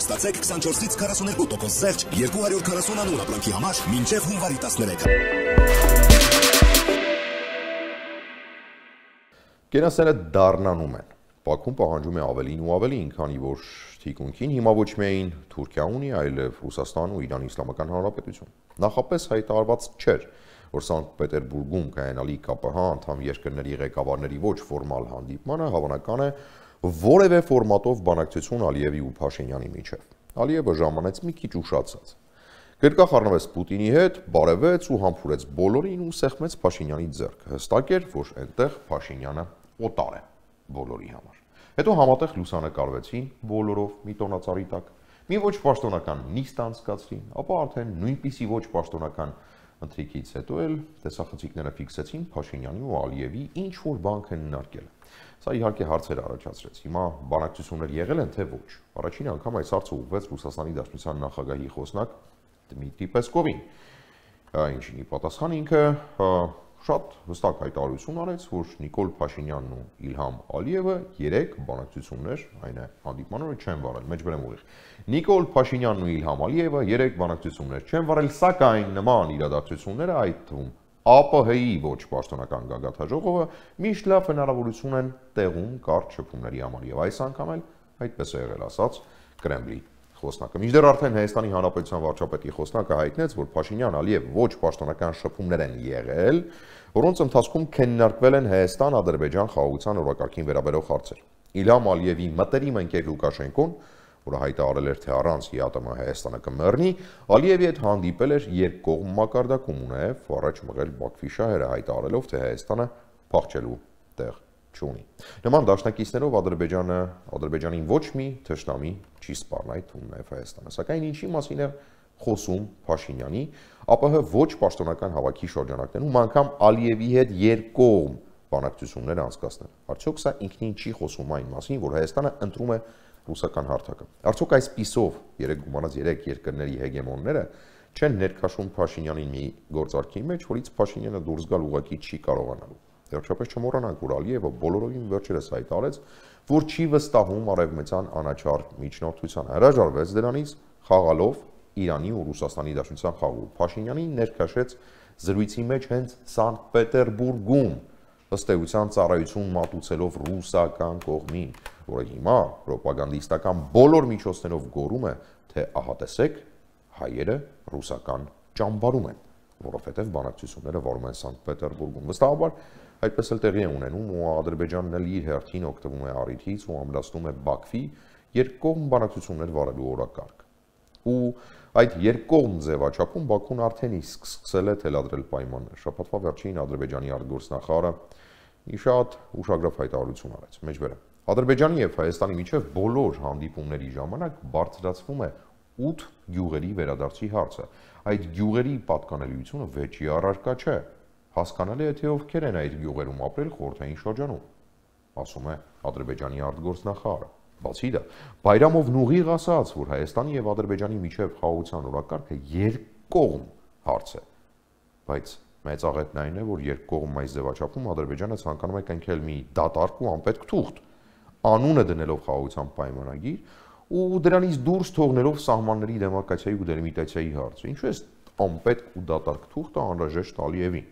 Ստացեք 24-ից 42% զերծ 240 անուն ապրանքի համար մինչև հունվարի 13-ը։ Կենասները դառնանում են։ Բաքուն պահանջում է ավելին ու ավելին, քանի որ թիկունքին հիմա ոչ միայն Թուրքիան ունի, այլև Ռուսաստանն ու Իրանի Իսլամական Հանրապետություն։ Նախապես հայտարարված չէր, որ Սանկտ Պետերբուրգում կայանալի ԿՊՀ անդամ երկրների ղեկավարների ոչ ֆորմալ հանդիպմանը հավանական է որևէ ֆորմատով բանակցություն Ալիևի ու Փաշինյանի միջև։ Ալիևը ժամանեց մի քիչ ուշացած։ Գրկախ առնվեց Պուտինի հետ, բարևեց ու համբուրեց բոլորին ու սեղմեց Փաշինյանի ձեռքը։ Հստակ էր, որ այնտեղ Փաշինյանը օտար է բոլորի համար։ Հետո համատեղ լուսանկարվեցին բոլորով մի տոնածառի տակ, մի ոչ պաշտոնական նիստ անցկացրին, ապա արդեն նույնպիսի ոչ պաշտոնական ընթրիքից հետո էլ տեսախցիկները ֆիքսեցին Փաշինյանի ու Ալիևի ինչ որ բան քննարկել։ Սա իհարկե հարցեր առաջացրեց։ Հիմա բանակցություններ եղել են թե ոչ։ Առաջին անգամ այս հարցը ուղղվեց Ռուսաստանի Դաշնության նախագահի խոսնակ Դմիտրի Պեսկովին, ինչին ի պատասխան ինքը շատ հստակ հայտարարություն արեց, որ Նիկոլ Փաշինյանն ու Իլհամ Ալիևը 3 բանակցություններ, այն է հանդիպման օրը չեն վարել, մեջբերեմ ուղիղ։ Նիկոլ Փաշինյանն ու Իլհամ Ալիևը 3 բանակցություններ չեն վարել, սակայն նման իրադարձությունները, այդ թվում ԱՊՀ-ի ոչ պաշտոնական գագաթաժողովը միշտ լավ հնարավորություն են տեղում կարճ շփումների համար, եւ այս անգամ էլ այդպես է եղել, ասաց Կրեմլի խոսնակը։ Մինչդեռ արդեն Հայաստանի Հանրապետության վարչապետի խոսնակը հայտնեց, որ Փաշինյան-Ալիև ոչ պաշտոնական շփումներ են եղել, որոնց ընթացքում քննարկվել են Հայաստան-Ադրբեջան խաղաղության օրակարգին վերաբերող հարցեր։ Իլհամ Ալիևի մտերիմ ընկեր Լուկաշենկոն, որը հայտարարել էր, թե առանց ՀԱՏՄ Հայաստանը կմեռնի, Ալիևի հետ հանդիպել էր երկկողմ մակարդակում ու նաև առաջ մղել Բաքվի շահերը, հայտարարելով, թե Հայաստանը փախչելու տեղ չունի։ Նման դաշնակիցներով Ադրբեջանին ոչ մի թշնամի չի սպառնա, այդ թվում նաև Հայաստանը։ Սակայն ինչի մասին է խոսում Փաշինյանի, ԱՊՀ ոչ պաշտոնական հավաքի շրջանակներում անգամ Ալիևի հետ երկկողմ բանակցություններ անցկացնել։ Արդյոք սա ինքնին չի խոսում այն մասին, որ Հայաստանը ընտրում է ռուսական հարթակը։ Արդյոք այս պիսով 3 երկրների հեգեմոնները չեն ներքաշում Փաշինյանին մի գործարքի մեջ, որից Փաշինյանը դուրս գալ ուղղակի չի կարողանալու։ Վերջապես չմոռանանք, որ Ալիևը բոլորովին վերջերս հայտարարեց, որ չի վստահում արևմտյան անաչառ միջնորդության, հրաժարվեց դրանից, խաղալով Իրանի ու Ռուսաստանի Դաշնության խաղում։ Փաշինյանին ներքաշեց զրույցի մեջ հենց Սանկտ Պետերբուրգում, ըստ էության ծառայություն մատուցելով ռուսական կողմին, որը հիմա ռոպագանդիստական բոլոր միջոցներով գոռում է, թե ահա տեսեք, հայերը ռուսական ճամբարում են, որովհետև բանակցությունները վարում են Սանկտ Պետերբուրգում։ Վստահաբար այդպես էլ տեղի է ունենում ու Ադրբեջանն էլ իր հերթին օգտվում է առիթից ու ամրացնում է Բաքվի երկկողմ բանակցություններ վարելու օրակարգ։ Ու այդ երկկողմ ձևաչափում Բաքուն արդեն իսկ սկսել է թելադրել պայմաններ։ Շաբաթվա վերջին Ադրբեջանի արտգործնախարարը մի շատ ուշագրավ հայտարարություն արեց։ Մեջբերեմ։ Ադրբեջանի եւ Հայաստանի միջև բոլոր հանդիպումների ժամանակ բարձրացվում է 8 գյուղերի վերադարձի հարցը։ Այդ գյուղերի պատկանելիությունը վեճի առարկա չէ։ Հասկանալի է, թե ովքեր են այդ գյուղերում ապրել խորհրդային շրջանում, ասում է Ադրբեջանի արտգործնախարարը։ Բացի դա, Բայրամովն ուղիղ ասաց, որ Հայաստանի եւ Ադրբեջանի միջև խաղաղության օրակարգը երկկողմ հարց է, բայց մեծ աղետն այն է, որ երկկողմ այս ձևաչափում Ադրբեջանը ցանկանում է կնքել մի դատարկ ու անպետք թուղթ, անունը դնելով խաղաղության պայմանագիր ու դրանից դուրս թողնելով սահմանների դեմարկացիայի ու դելիմիտացիայի հարցը։ Ինչու է անպետք ու դատարկ թուղթը անհրաժեշտ Ալիևին։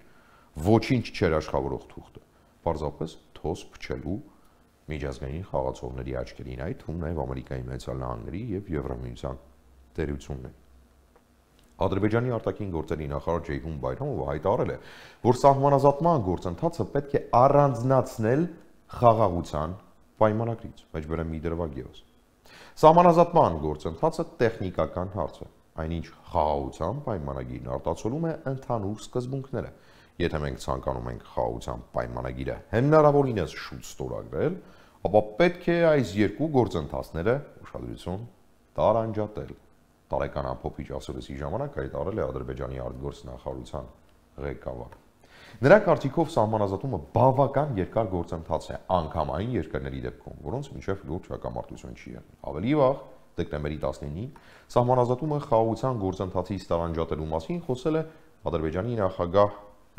Ոչինչ չէր աշխատավորող թուղթը, պարզապես թոս փչելու միջազգային խաղացողների աչքերին, այդ թվում նաև Ամերիկայի Միացյալ Նահանգների եւ Եվրամիության տերություններ։ Ադրբեջանի արտաքին գործերի նախարար Ջեյհուն Բայրամովը հայտարարել է, որ սահմանազատման գործընթացը պետք է առանձնացնել խաղաղության պայմանագրից։ Մեջբերեմ մի դրվագ ևս։ Սահմանազատման գործընթացը տեխնիկական հարց է, այնինչ խաղաղության պայմանագիրն արտացոլում է ընդհանուր սկզբունքները։ Եթե մենք ցանկանում ենք խաղաղության պայմանագիրը հնարավորինս շուտ ստորագրել, ապա պետք է այս երկու գործընթացները ուշադրություն տարանջատել։ Տարեկան ամփոփիչ ասուլիսի ժամանակ հայտարարել է Ադրբեջանի արտգործնախարարության ղեկավարը։ Նրա կարծիքով սահմանազատումը բավական երկար գործընթաց է անգամ այն երկրների դեպքում, որոնց միջև լուրջ հակամարտություն չի եղել։ Ավելի վաղ, դեկտեմբերի 19-ին, սահմանազատումը խաղաղության գործընթացից տարանջատելու մասին խոսել է Ադրբեջանի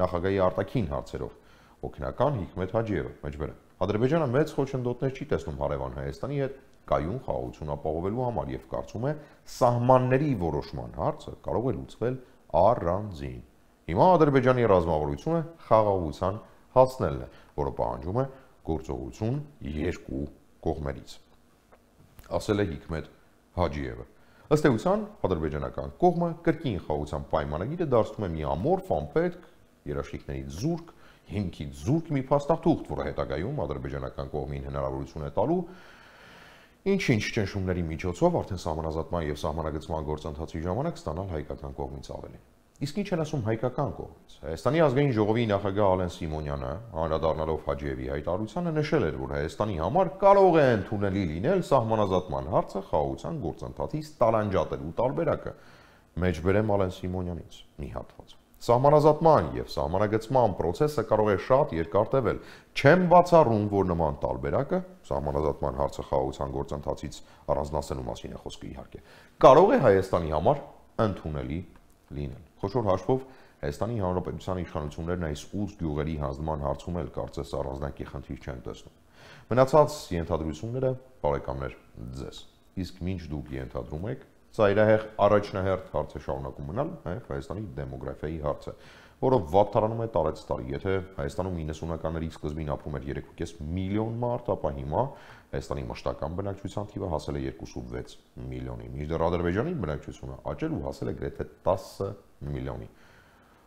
նախագահի արտաքին հարցերով օգնական Հիկմետ Հաջիևը։ Մեջբերեմ։ Ադրբեջանը մեծ խոչընդոտներ չի տեսնում հարևան Հայաստանի հետ կայուն խաղաղություն ապահովելու համար եւ կարծում է սահմանների որոշման հարցը կարող է լուծվել առանձին։ Հիմա Ադրբեջանի ռազմավարությունը խաղաղության հասնելն է, որը պահանջում է գործողություն երկու կողմերից, ասել է Հիկմետ Հաջիևը։ Ըստ էության, ադրբեջանական կողմը կրկին խաղաղության պայմանագիրը դարձնում է մի ամորֆ, անպետք, երաշխիքներից զուրկ, հիմքից զուրկ մի փաստաթուղթ, որը հետագայում ադրբեջանական կողմին հնարավորություն է տալու ինչ-ինչ ճնշումների միջոցով արդեն սահմանազատման եւ սահմանագծման գործընթացի ժամանակ ստանալ հայկական կողմից ավելի։ Իսկ ինչ են ասում հայկական կողմից։ Հայաստանի ազգային ժողովի նախագահ Ալեն Սիմոնյանը, անդրադառնալով Հաջիևի հայտարարությանը, նշել էր, որ Հայաստանի համար կարող է ընդունելի լինել սահմանազատման հարցը խաղաղության գործընթացից տալանջատելու տարբերակը։ Մեջբերեմ Ալեն Սիմոնյանից մի հատված։ Սահմանազատման եւ սահմանագծման process-ը կարող է շատ երկար տևել։ Չեմ բացառում, որ նման տարբերակը սահմանազատման հարցը խաղաղության գործընթացից առանձնացնելու մասին է խոսքը իհարկե, կարող է Հայաստանի համար ընդունելի լինել։ Խոշոր հաշվով Հայաստանի Հանրապետության իշխանություններն այս 8 գյուղերի հանձնման հարցում էլ կարծես առանձնակի խնդիր չեն տեսնում։ Մնացած ենթադրությունները բարեկամներ ձեզ։ Իսկ ինչ դուք ենթադրում եք, ծայրահեղ առաջնահերթ հարց է շարունակում մնալ նաև Հայաստանի դեմոգրաֆիայի հարցը, որը վատթարանում է տարեց տարի։ Եթե Հայաստանում 90-ականների սկզբին ապրում էր 3.5 միլիոն մարդ, ապա հիմա Հայաստանի մշտական բնակչության թիվը հասել է 2.6 միլիոնի, մինչդեռ Ադրբեջանի բնակչությունը աճել ու հասել է գրեթե 10 միլիոնի։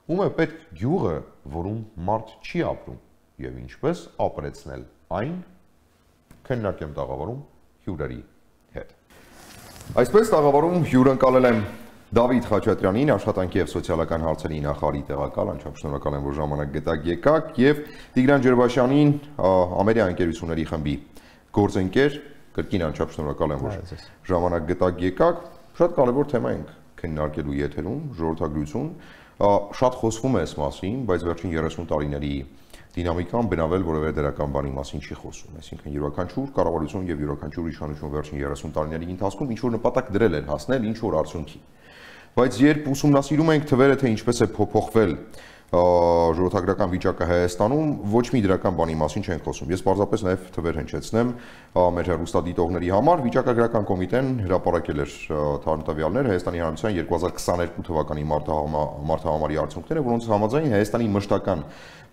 Ում է պետք գյուղը, որում մարդ չի ապրում, եւ ինչպես ապրեցնել այն, քննարկեմ տաղավարում հյուրերի հետ։ Այսպես տաղավարում հյուրընկալել եմ Դավիթ Խաչատրյանին, աշխատանքի եւ սոցիալական հարցերի նախարարի տեղակալ, անչափ շնորհակալ եմ, որ ժամանակ գտաք եկաք, եւ Տիգրան Ջերբաշյանին, Ամերիկա ընկերությունների խմբի գործընկեր, կրկին անչափ շնորհակալ եմ, որ ժամանակ գտաք եկաք։ Շատ կարևոր թեմա ենք քննարկելու եթերում, ժողովրդագրություն, շատ խոսվում է այս մասին, բայց վերջին 30 տարիների դինամիկան բնավել որևէ դրական բանի մասին չի խոսում, այսինքն յուրաքանչյուր կառավարություն եւ յուրաքանչյուր իշխանություն վերջին 30 տարիների ընթացքում ինչ որ նպատակ դրել էր հասնել ինչ որ արդյունքի։ Բայց երբ ուսումնասիրում ենք թվերը, թե ինչպես է փոփոխվել ժողովրդագրական վիճակը Հայաստանում, ոչ մի դրական բանի մասին չեն խոսում։ Ես պարզապես նաև թվեր հնչեցնեմ մեր հեռուստադիտողների համար, վիճակագրական կոմիտեն հրապարակել էր տվյալներ Հայաստանի Հանրապետության 2022 թվականի մարտահամարի արդյունքները, որոնց համաձայն Հայաստանի մշտական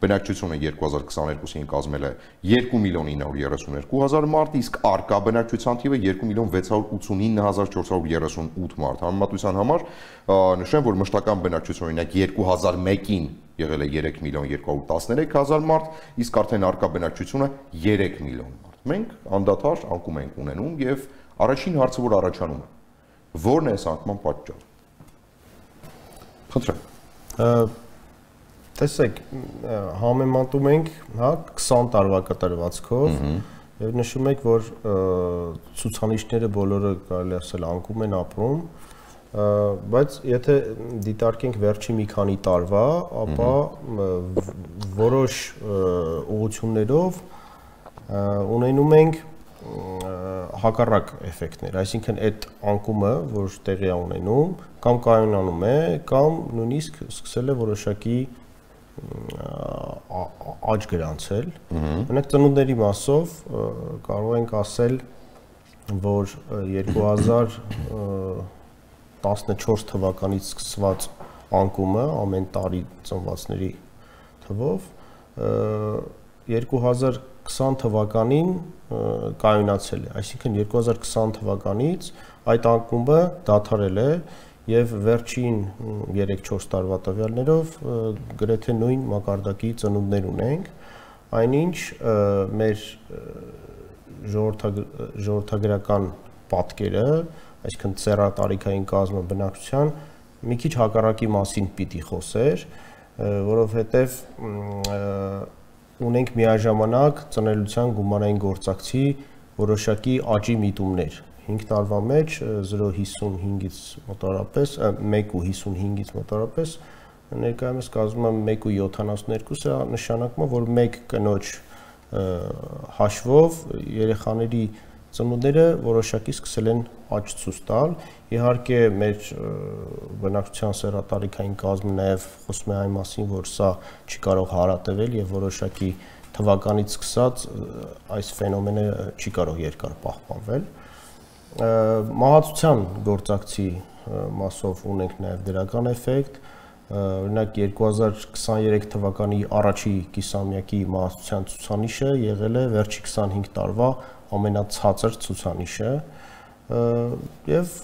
բնակչությունը 2022-ին կազմել է 2.932.000 մարդ, իսկ արկա բնակչության թիվը 2.689.438 մարդ։ Համեմատության համար նշեմ, որ մշտական բնակչությունը օրինակ 2001-ին եղել է 3.213.000 մարդ, իսկ արդեն արկա բնակչությունը 3 միլիոն մարդ։ Մենք անդադար անկում ենք ունենում եւ առաջին հարցը, որ առաջանում է, ո՞րն է այս անկման պատճառը։ Խնդրեմ։ Տեսեք, համեմատում ենք, հա, 20 տարվա կտրվածքով եւ նշում եք, որ ցուցանիշները բոլորը կարելի ասել անկում են ապրում, բայց եթե դիտարկենք վերջի մի քանի տարվա, ապա որոշ ուղղություններով ունենում ենք հակառակ էֆեկտներ, այսինքն այդ անկումը, որ տեղի է ունենում, կամ կայունանում է, կամ նույնիսկ սկսել է որոշակի աճ գրանցել։ Մենակ ծնունդների մասով կարող ենք ասել, որ 2014 թվականից սկսված անկումը ամեն տարի ծնվածների թվով 2020 թվականին կայունացել է, այսինքն 2020 թվականից այդ անկումը դադարել է եւ վերջին 3-4 տարվա տվյալներով գրեթե նույն մակարդակի ծնունդներ ունենք, այնինչ մեր ժողովրդագրական պատկերը, այսինքն ծեռատարիքային կազմը բնակչության մի քիչ հակառակի մասին պիտի խոսեր, որովհետեւ ունենք միաժամանակ ծնելիության գումարային գործակցի որոշակի աճի միտումներ 5 տարվա մեջ 0.55-ից մոտավորապես 1.55-ից մոտավորապես ներկայումս կազմում է 1.72, սա նշանակում է, որ 1 կնոջ հաշվով երեխաների ծնունդները որոշակի սկսել են աճ ցույց տալ։ Իհարկե մեր բնակչության սեռատարիքային կազմը նաև խոսում է այն մասին, որ սա չի կարող հարատևել եւ որոշակի թվականից սկսած այս ֆենոմենը չի կարող երկար պահպանվել։ Մահացության գործակցի մասով ունենք նաև դրական էֆեկտ, օրինակ 2023 թվականի առաջի կիսամյակի մահացության ցուցանիշը եղել է վերջի 25 տարվա ամենացածր ցուցանիշը եւ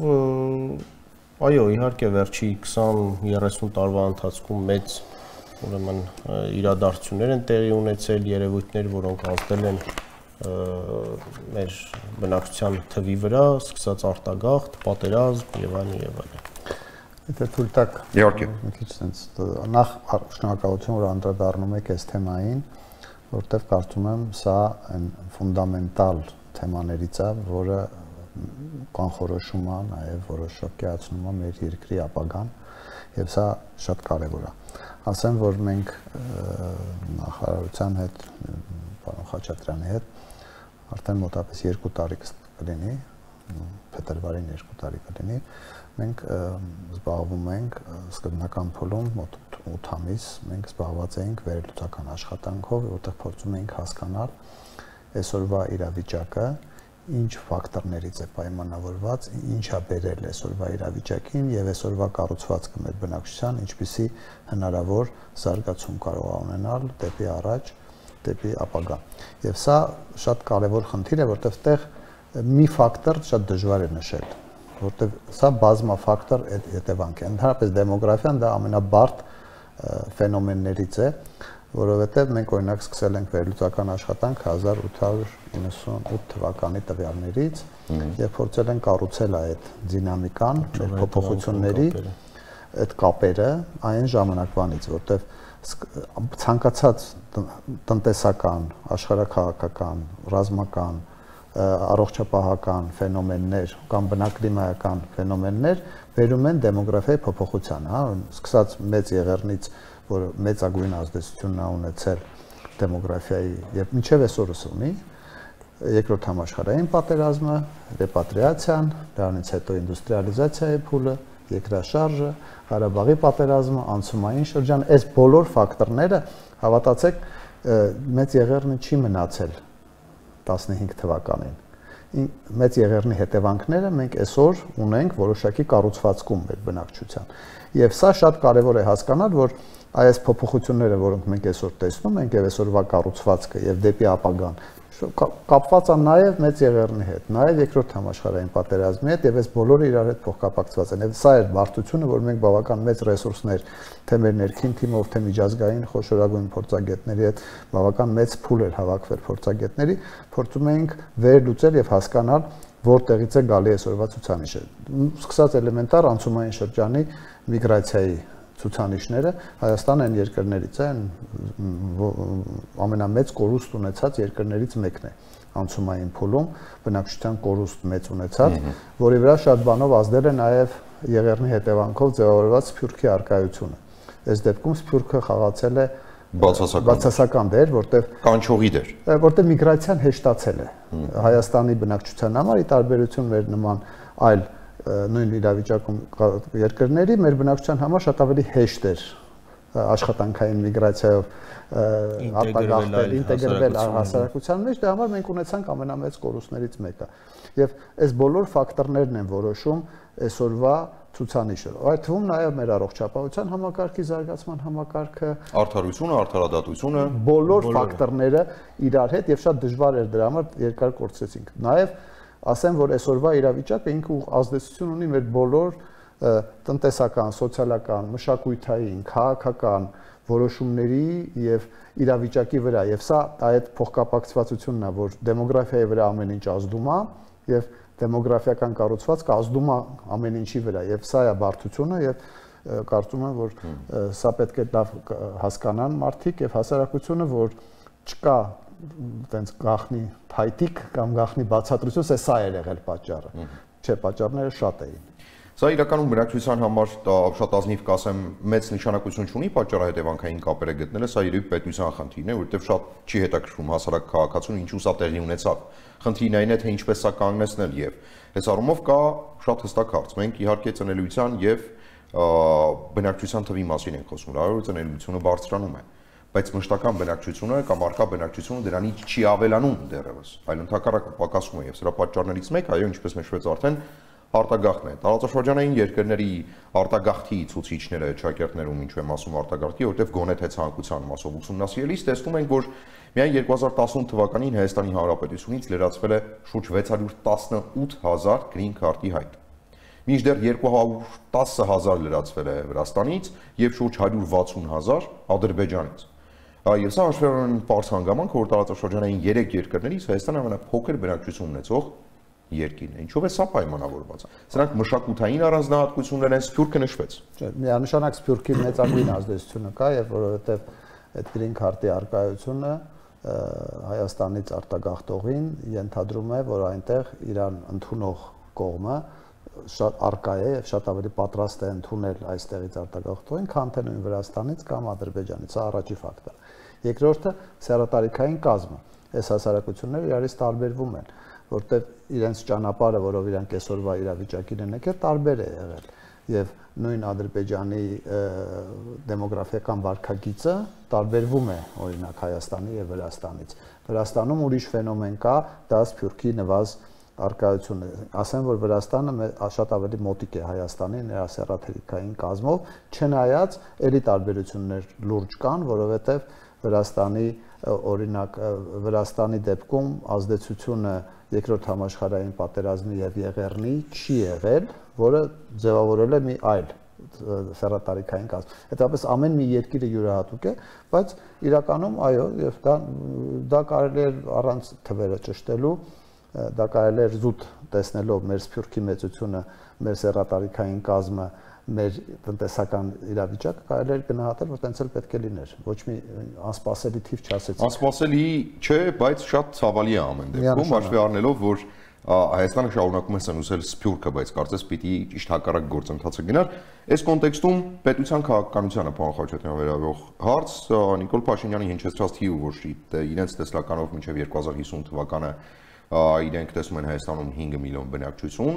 այո, իհարկե վերջի 20-30 տարվա ընթացքում մեծ ուրեմն իրադարձություններ են տեղի ունեցել, երևույթներ, որոնք ազդել են մեր բնակչության թվի վրա, սկսած արտագաղթ, պատերազմ եւ այլն եւ այլն։ Եթե թույլ տաք, իհարկե, մի քիչ sense նախ շնորհակալություն, որ անդրադառնում եք այս թեմային, որտեղ կարծում եմ սա այն ֆունդամենտալ թեմաներից է, որը կանխորոշում է, նաև որոշակիացնում է մեր երկրի ապագան, եւ սա շատ կարեւոր է։ Ասեմ, որ մենք նախարարության հետ, պարոն Խաչատրյանի հետ արդեն մոտավորապես 2 տարի կլինի, փետրվարին 2 տարի կլինի, մենք զբաղվում ենք սկզբնական փուլում մոտ 8 ամիս մենք զբաղված էինք վերլուծական աշխատանքով, որտեղ փորձում էինք հասկանալ այսօրվա իրավիճակը, ինչ ֆակտորներից է պայմանավորված, ինչ է բերել այսօրվա իրավիճակին եւ այսօրվա կառուցվածքը մեր բնակչության, ինչպիսի հնարավոր զարգացում կարող է ունենալ դեպի առաջ, դեպի ապագա։ Եվ սա շատ կարեւոր խնդիր է, որտեղ այդտեղ մի ֆակտոր շատ դժվար է նշել, որտեղ սա բազմաֆակտոր հետևանք է։ Ընդհանրապես դեմոգրաֆիան դա ամենաբարդ ֆենոմեններից է, որովհետև մենք օրինակ սկսել ենք վերլուծական աշխատանք 1898 թվականի տվյալներից եւ փորձել ենք կառուցել այդ դինամիկան, մեր փոփոխությունների այդ կապերը այն ժամանակվանից, որտեղ ցանկացած տնտեսական, աշխարհաքաղաքական, ռազմական, առողջապահական ֆենոմեններ կամ բնակլիմայական ֆենոմեններ վերում են դեմոգրաֆիայի փոփոխության, հա, սկսած մեծ եղեռնից, որ մեծագույն ազդեցություն է ունեցել դեմոգրաֆիայի եւ մինչեւ այսօրս ունի, երկրորդ համաշխարհային պատերազմը, ռեպատրիացիան, դրանից հետո ինդուստրիալիզացիայի փուլը, երկրաշարժը, Ղարաբաղի պատերազմը, անցումային շրջան, այս բոլոր ֆակտորները, հավատացեք, մեծ եղեռնը չի մնացել 15 թվականին։ Մեծ եղեռնի հետևանքները մենք այսօր ունենք որոշակի կառուցվածքում մեր բնակչության։ Եվ սա շատ կարևոր է հասկանալ, որ այս փոփոխությունները, որոնք մենք այսօր տեսնում ենք, եւ այսօրվա կառուցվածքը եւ դեպի ապագան, կապված են նաեւ մեծ եղեռնի հետ, նաեւ երկրորդ համաշխարհային պատերազմի հետ, եւ այս բոլորը իրար հետ փոխկապակցված են։ Եվ սա է բարդությունը, որ մենք բավական մեծ ռեսուրսներ, թե մեր ներքին թիմով, թե միջազգային խոշորագույն փորձագետների հետ բավական մեծ փուլ էր հավաքվել փորձագետների, փորձում էինք վերլուծել եւ հասկանալ, որտեղից է գալի այսօրվա ցուցանիշը։ Սկսած էլեմենտար անցումային շրջանի միգրացիայի ցուցանիշները Հայաստանը այն երկրներից է, ամենամեծ կորուստ ունեցած երկրներից մեկն է անցումային փուլում, բնակչության կորուստ մեծ ունեցած, որի վրա շատ բանով ազդել է նաև եղեռնի հետևանքով ձևավորված սփյուռքի առկայությունը։ Այս դեպքում սփյուռքը խաղացել է բացասական դեր, որտեղ կանչողի դեր, որտեղ միգրացիան հեշտացել է Հայաստանի բնակչության համար, ի տարբերություն մեր նման այլ նույն իրավիճակում երկրների մեր բնակչության համար շատ ավելի հեշտ էր աշխատանքային միգրացիայով արտագաղթել, ինտեգրվել հասարակության մեջ, դրա համար մենք ունեցանք ամենամեծ կորուստներից մեկը։ Եվ այս բոլոր ֆակտորներն են որոշում այսօրվա ցուցանիշը։ Այդ թվում նաև մեր առողջապահության համակարգի զարգացման համակարգը, արդարությունը, արդարադատությունը, բոլոր ֆակտորները իրար հետ եւ շատ դժվար էր դրա համար երկար կորցրեցինք։ Նաև ասեմ, որ այսօրվա իրավիճակը ինքը ազդեցություն ունի մեր բոլոր տնտեսական, սոցիալական, մշակութային, քաղաքական որոշումների եւ իրավիճակի վրա, եւ սա այդ փոխկապակցվածությունն է, որ դեմոգրաֆիայի վրա ամեն ինչ ազդում է եւ դեմոգրաֆիական կառուցվածքը ազդում է ամեն ինչի վրա, եւ սա է բարդությունը եւ կարծում եմ, որ սա պետք է լավ հասկանան մարդիկ եւ հասարակությունը, որ չկա տենց գախնի փայտիկ կամ գախնի բացատրություն, սա է եղել պատճառը։ Չէ, պատճառները շատ էին։ Սա իրականում բնակչության համար շատ ազնիվ կասեմ, մեծ նշանակություն չունի պատճառահետևանքային կապերը գտնելը, սա երբ պետության խնդիրն է, որովհետև շատ չի հետաքրքրում հասարակ քաղաքացուն ինչու սա տեղի ունեցավ։ Խնդիրն այն է, թե ինչպես սա կանգնեցնել եւ այս առումով կա շատ հստակ հարց։ Մենք իհարկե ծնելիության եւ բնակչության թվի մասին ենք խոսում, լավը ծնելիությունը բարձրանում է, բայց մշտական բնակչությունը կամ արկա բնակչությունը դրանից չի ավելանում դեռևս, այլ ընդհակառակը պակասում է եւ սրա պատճառներից մեկը, այո, ինչպես նշվեց արդեն, արտագաղթն է։ Տարածաշրջանային երկրների արտագաղթի ցուցիչները ճակերտներում ինչու եմ ասում արտագաղթի, որովհետեւ գոնե թե ցանկության մասով ուսումնասիրելիս տեսնում ենք, որ միայն 2018 թվականին Հայաստանի Հանրապետությունից լրացվել է շուրջ 618,000 green card-ի հայտ։ Մինչդեռ 210,000 լրացվել է Վրաստանից եւ շուրջ 160,000 Ադրբեջանից։ Եվ սա հաշվառան պարզ հանգամանք, որ տարածաշրջանային 3 երկրներից Հայաստանը ամենափոքր բնակչություն ունեցող երկիրն է։ Ինչով է սա պայմանավորված։ Սրանք մշակութային առանձնահատկություններ են, Սփյուռքը նշվեց։ Չէ, միանշանակ Սփյուռքի մեծագույն ազդեցությունը կա, եւ որովհետեւ այդ green card-ի արկայությունը Հայաստանից արտագաղթողին ենթադրում է, որ այնտեղ իրան ընդունող կողմը շատ արկա է եւ շատ ավելի պատրաստ է ընդունել այստեղից արտագաղթողին, քան թե նույն Վրաստանից կամ Ադրբեջանից։ Սա առաջի ֆակտորը։ Երկրորդը սեռատարիքային կազմը։ Այս հասարակությունները իրարից տարբերվում են, որտեղ իրենց ճանապարհը, որով իրանք այսօրվա իրավիճակին են եկել, տարբեր է եղել։ Եվ նույն Ադրբեջանի դեմոգրաֆիական վարքագիծը տարբերվում է օրինակ Հայաստանի եւ Վրաստանից։ Վրաստանում ուրիշ ֆենոմեն կա, դա Սփյուռքի նվազ արկայությունը, ասեմ, որ Վրաստանը շատ ավելի մոտիկ է Հայաստանի նրա սեռաթերիկային կազմով, չնայած էլի տարբերություններ լուրջ կան, որովհետև Վրաստանի օրինակ Վրաստանի դեպքում ազդեցությունը երկրորդ համաշխարհային պատերազմի եւ Եղեռնի չի եղել, որը ձևավորել է մի այլ սեռատարիքային կազմ։ Հետապես ամեն մի երկիրը յուրահատուկ է, բայց իրականում այո, եւ դա կարելի է առանց թվերը ճշտելու դա կարելի է զուտ տեսնելով մեր Սփյուռքի մեծությունը, մեր սեռատարիքային կազմը, մեր տնտեսական իրավիճակը կարելի է գնահատել, որ տենց էլ պետք է լիներ։ Ոչ մի անսպասելի թիվ չասեցի։ Անսպասելի չէ, բայց շատ ցավալի է ամեն դեպքում, հաշվի առնելով, որ Հայաստանը շարունակում է սնուցել Սփյուռքը, բայց կարծես պիտի ճիշտ հակառակ գործընթացը գնար։ Այս կոնտեքստում պետության քաղաքականությանը պարոն Խաչատրյան վերաբերող հարց Նիկոլ Փաշինյանի հնչեցրած թիվը, որ իրենց տեսլականով մինչև 2050 թվականը իրենք տեսնում են Հայաստանում 5 միլիոն բնակչություն,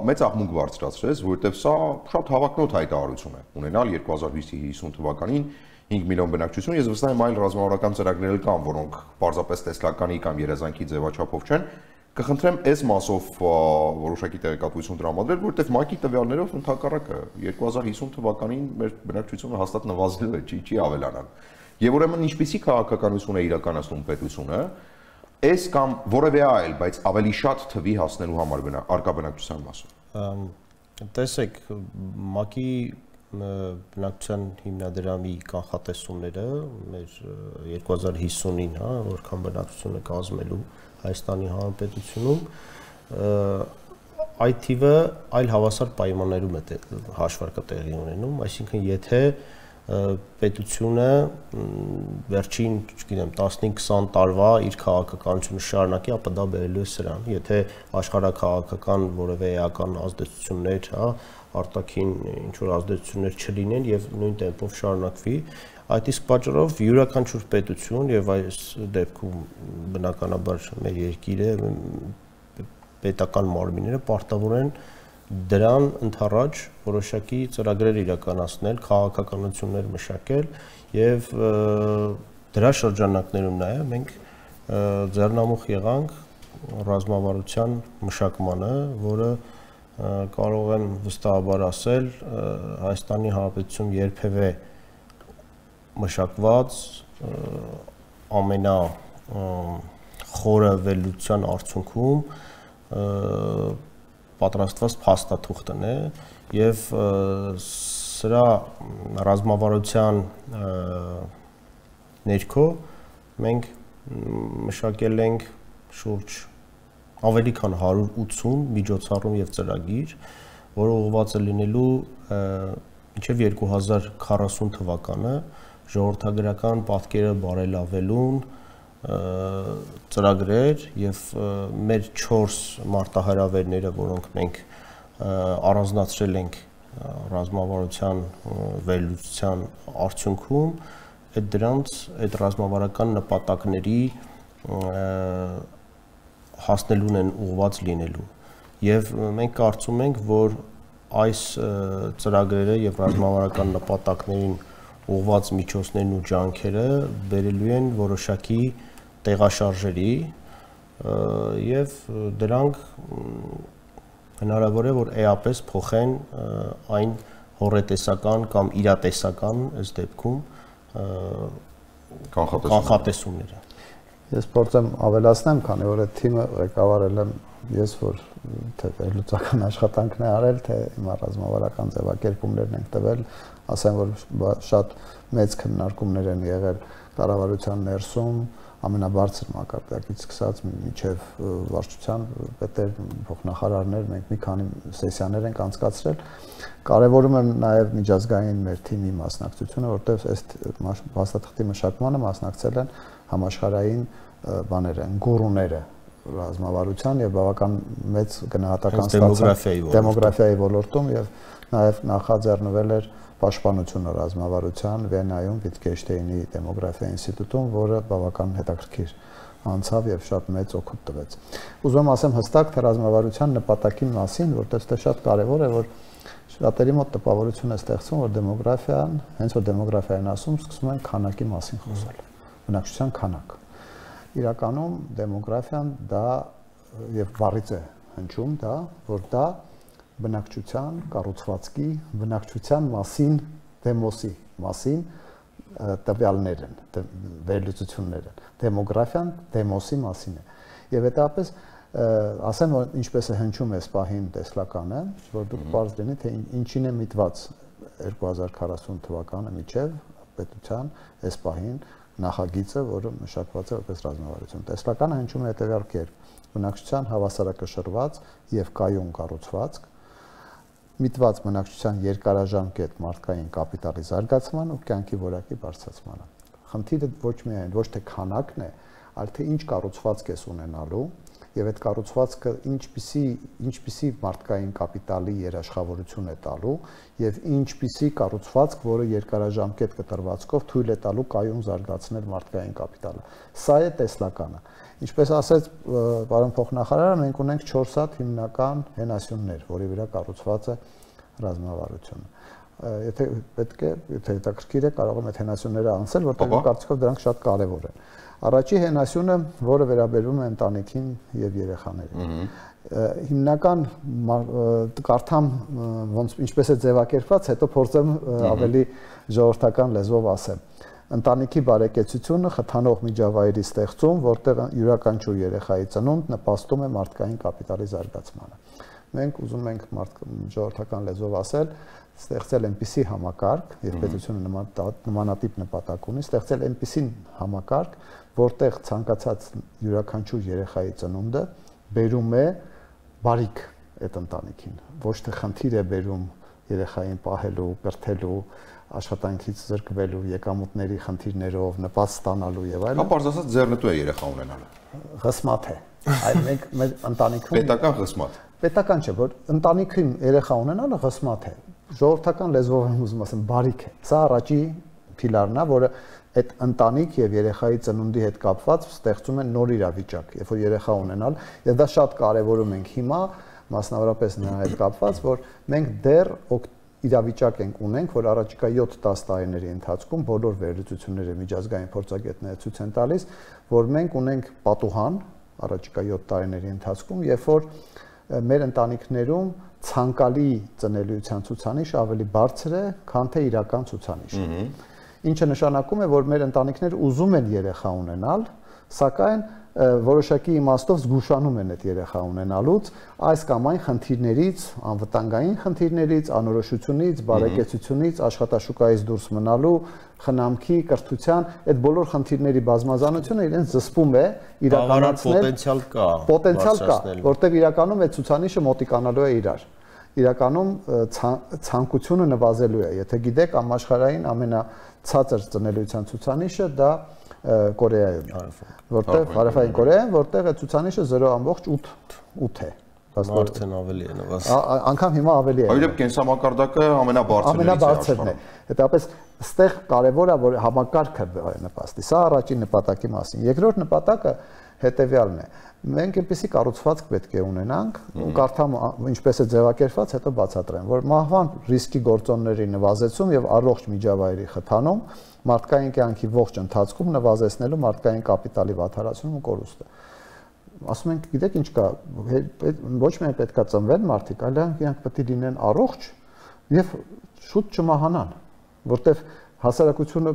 մեծ աղմուկ բարձրացրեց, որովհետև սա շատ հավակնոտ հայտարարություն է։ Ունենալ 2050 թվականին 5 միլիոն բնակչություն, ես վստահ եմ այլ ռազմավարական ծրագրեր կան, որոնք պարզապես տեսլականի կամ երազանքի ձևաչափով չեն։ Կխնդրեմ այս մասով որոշակի տեղեկատվություն տրամադրել, որովհետև ՄԱԿ-ի տվյալներով ընդհակառակը 2050 թվականին մեր բնակչությունը հաստատ նվազելու է, չի ավելանան։ Եվ ուրեմն ինչպիսի քաղաքականություն է իրականացնում պետությունը, այս կամ որևէ այլ, բայց ավելի շատ թվի հասնելու համար արկա բնակչության մասով։ Տեսեք, ՄԱԿ-ի բնակչության հիմնադրամի կանխատեսումները մեր 2050-ին, հա, որքան բնակչությունը կազմելու Հայաստանի Հանրապետությունում, այդ թիվը այլ հավասար պայմաններում է հաշվարկը տեղի ունենում, այսինքն եթե պետությունը վերջին, չգիտեմ, 15-20 տարվա իր քաղաքականությունը շարունակի, ապա դա բերելու է սրան։ Եթե աշխարհաքաղաքական որևէ էական ազդեցություններ, հա, արտաքին ինչ-որ ազդեցություններ չլինեն եւ նույն տեմպով շարունակվի, այդ իսկ պատճառով յուրաքանչյուր պետություն եւ այս դեպքում բնականաբար մեր երկիրը պետական մարմինները պարտավոր են դրան ընդառաջ որոշակի ծրագրեր իրականացնել, քաղաքականություններ մշակել եւ դրա շրջանակներում նաեւ մենք ձեռնամուխ եղանք ռազմավարության մշակմանը, որը կարող եմ վստահաբար ասել, Հայաստանի Հանրապետությունում երբևէ մշակված ամենա խորը վերլուծության արդյունքում պատրաստված փաստաթուղթն է եւ սրա ռազմավարության ներքո մենք մշակել ենք շուրջ ավելի քան 180 միջոցառում եւ ծրագիր, որը ուղղված է լինելու մինչեւ 2040 թվականը ժողովրդագրական պատկերը բարելավելուն ծրագրեր եւ մեր 4 մարտահրավերները, որոնք մենք առանձնացրել ենք ռազմավարության վերլուծության արդյունքում, այդ ռազմավարական նպատակների հասնելուն են ուղղված լինելու եւ մենք կարծում ենք, որ այս ծրագրերը եւ ռազմավարական նպատակներին ուղղված միջոցներն ու ջանքերը բերելու են որոշակի տեղաշարժերի եւ դրանք հնարավոր է որ էապես փոխեն այն հորետեսական կամ իրատեսական ըստ դեպքում կանխատեսումները։ Ես փորձեմ ավելացնեմ, քանի որ այդ թիմը ղեկավարել եմ ես, որ թե վերլուծական աշխատանքն է արել, թե հիմա ռազմավարական ձևակերպումներն ենք տվել, ասեմ, որ շատ մեծ քննարկումներ են եղել կառավարության ներսում, ամենաբարձր մակարդակից սկսած մինչև վարչության պետեր, փոխնախարարներ, մենք մի քանի սեսիաներ ենք անցկացրել։ Կարևորում եմ նաև միջազգային մեր թիմի մասնակցությունը, որտեղ այս փաստաթղթի մշակմանը մասնակցել են համաշխարհային բաները, գուրուները ռազմավարության եւ բավական մեծ գնահատական ստացան դեմոգրաֆիայի ոլորտում եւ նաեւ նախաձեռնվել էր պաշտպանությունը ռազմավարության Վենայում Վիտգենշտեյնի դեմոգրաֆիա ինստիտուտում, որը բավական հետաքրքիր անցավ եւ շատ մեծ օգուտ տվեց։ Ուզում եմ ասեմ հստակ թե ռազմավարության նպատակի մասին, որտեղ դա շատ կարեւոր է, որ շատերի մոտ տպավորություն է ստեղծվում, որ դեմոգրաֆիան, հենց որ դեմոգրաֆիան ասում, սկսում են քանակի մասին խոսել։ Բնակչության քանակ։ Իրականում դեմոգրաֆիան դա եւ բառից է հնչում դա, որ դա բնակչության կառուցվածքի, բնակչության մասին, դեմոսի մասին տվյալներ են, վերլուծություններ են։ Դեմոգրաֆիան դեմոսի մասին է։ Եվ հետապես ասեմ, որ ինչպես է հնչում այս պահին տեսլականը, որ դուք բարձ լինի, թե ինչին է միտված 2040 թվականը միջև պետության այս պահին նախագիծը, որը մշակված է որպես ռազմավարություն։ Տեսլականը հնչում է հետևյալ կերպ. բնակչության հավասարակշռված եւ կայուն կառուցվածք, միտված բնակչության երկարաժամկետ մարդկային կապիտալի զարգացման ու կյանքի որակի բարձրացմանը։ Խնդիրը ոչ միայն ոչ թե քանակն է, այլ թե ինչ կառուցվածք ես ունենալու եւ այդ կառուցվածքը ինչպիսի մարդկային կապիտալի երաշխավորություն է տալու եւ ինչպիսի կառուցվածք, որը երկարաժամկետ կտրվածքով թույլ է տալու կայուն զարգացնել մարդկային կապիտալը։ Սա է տեսլականը։ Ինչպես ասեց պարոն փոխնախարարը, մենք ունենք 4 հատ հիմնական հենասյուններ, որի վրա կառուցված է ռազմավարությունը։ Եթե պետք է, եթե հետաքրքիր է, կարող եմ այդ հենասյունները անցնել, որտեղ կարծիքով դրանք շատ կարեւոր են։ Առաջի հենասյունը, որը վերաբերվում է ընտանիքին եւ երեխաներին։ Հիմնական կարդամ ոնց ինչպես է ձևակերպված, հետո փորձեմ ավելի ժողովրդական լեզվով ասեմ։ Ընտանիքի բարեկեցությունը խթանող միջավայրի ստեղծում, որտեղ յուրաքանչյուր երեխայի ծնունդ նպաստում է մարդկային կապիտալի զարգացմանը։ Մենք ուզում ենք ժողովրդական լեզվով ասել, ստեղծել այնպիսի համակարգ, եւ պետությունը նմանատիպ նպատակ ունի, ստեղծել այնպիսի համակարգ, որտեղ ցանկացած յուրաքանչյուր երեխայի ծնունդը բերում է բարիք այդ ընտանիքին, ոչ թե խնդիր է բերում երեխային պահելու, կրթելու, աշխատանքից զրկվելու, եկամուտների խնդիրներով, նպաստ ստանալու եւ այլն։ Կամ բարձրացած ձեռնտու է երեխա ունենալը։ Ղսմատ է։ Այլ մենք մեր ընտանիքում պետական ղսմատ։ Պետական չէ, որ ընտանիքին երեխա ունենալը ղսմատ է։ Ժողովրդական լեզվով եմ ուզում ասեմ, բարիք է։ Սա առաջի փիլարն է, որը այդ ընտանիք եւ երեխայի ծնունդի հետ կապված ստեղծում է նոր իրավիճակ, երբ որ երեխա ունենալ, եւ դա շատ կարեւորում ենք հիմա, մասնավորապես նրա հետ կապված, որ մենք դեռ իրավիճակ ունենք, որ առաջիկա 7-10 տարիների ընթացքում բոլոր վերլուծությունները միջազգային փորձագետները ցույց են տալիս, որ մենք ունենք պատուհան առաջիկա 7 տարիների ընթացքում, երբ որ մեր ընտանիքներում ցանկալի ծնելիության ցուցանիշը ավելի բարձր է, քան թե իրական ցուցանիշը։ Ինչը նշանակում է, որ մեր ընտանիքները ուզում են երեխա ունենալ, սակայն որոշակի իմաստով զգուշանում են այդ երեխա ունենալուց, այս կամ այն խնդիրներից, անվտանգային խնդիրներից, անորոշությունից, բարեկեցությունից, աշխատաշուկայից դուրս մնալու, խնամքի, կրթության, այդ բոլոր խնդիրների բազմազանությունը իրենց զսպում է իրականացնել պոտենցիալ կա, որտեղ իրականում այդ ցուցանիշը մոտիկանալու է իրար։ Իրականում ցանկությունը նվազելու է, եթե գիտեք, համաշխարհային ամենացածր ծնելիության ցուցանիշը դա Կորեայում է, որտեղ Հարավային Կորեայում, որտեղ է ցուցանիշը 0.8 է։ Արդեն ավելի է նվազել։ Անկամ հիմա ավելի է։ Այդպես կենսամակարդակը ամենաբարձրն է։ Հետապես այստեղ կարևոր է որ համակարգը նպաստի։ Սա առաջին նպատակի մասին։ Երկրորդ նպատակը հետեւյալն է։ Մենք այնպեսի կառուցվածք պետք է ունենանք, ու կարդամ ինչպես է ձևակերպված, հետո բացատրեմ, որ մահվան ռիսկի գործոնների նվազեցում եւ առողջ միջավայրի խթանում, մարդկային կյանքի ողջ ընթացքում նվազեցնելու մարդկային կապիտալի վատթարացումը ու կորուստը։ Ասում ենք, գիտեք ինչ կա, ոչ միայն պետքա ծնվեն մարդիկ, այլ նրանք պետք է լինեն առողջ եւ շուտ չմահանան, որտեվ հասարակությունը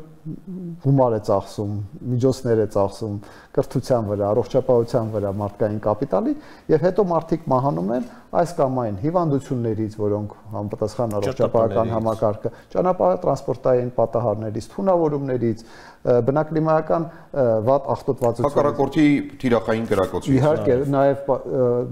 գումար է ծախսում, միջոցներ է ծախսում կրթության վրա, առողջապահության վրա, մարդկային կապիտալի, եւ հետո մարդիկ մահանում են այս կամ այն հիվանդություններից, որոնք համապատասխան առողջապահական համակարգը, ճանապարհատրանսպորտային պատահարներից, թունավորումներից, բնակլիմայական վատ աղտոտվածություններից, հակառակորդի թիրախային կրակոցից, իհարկե, նաեւ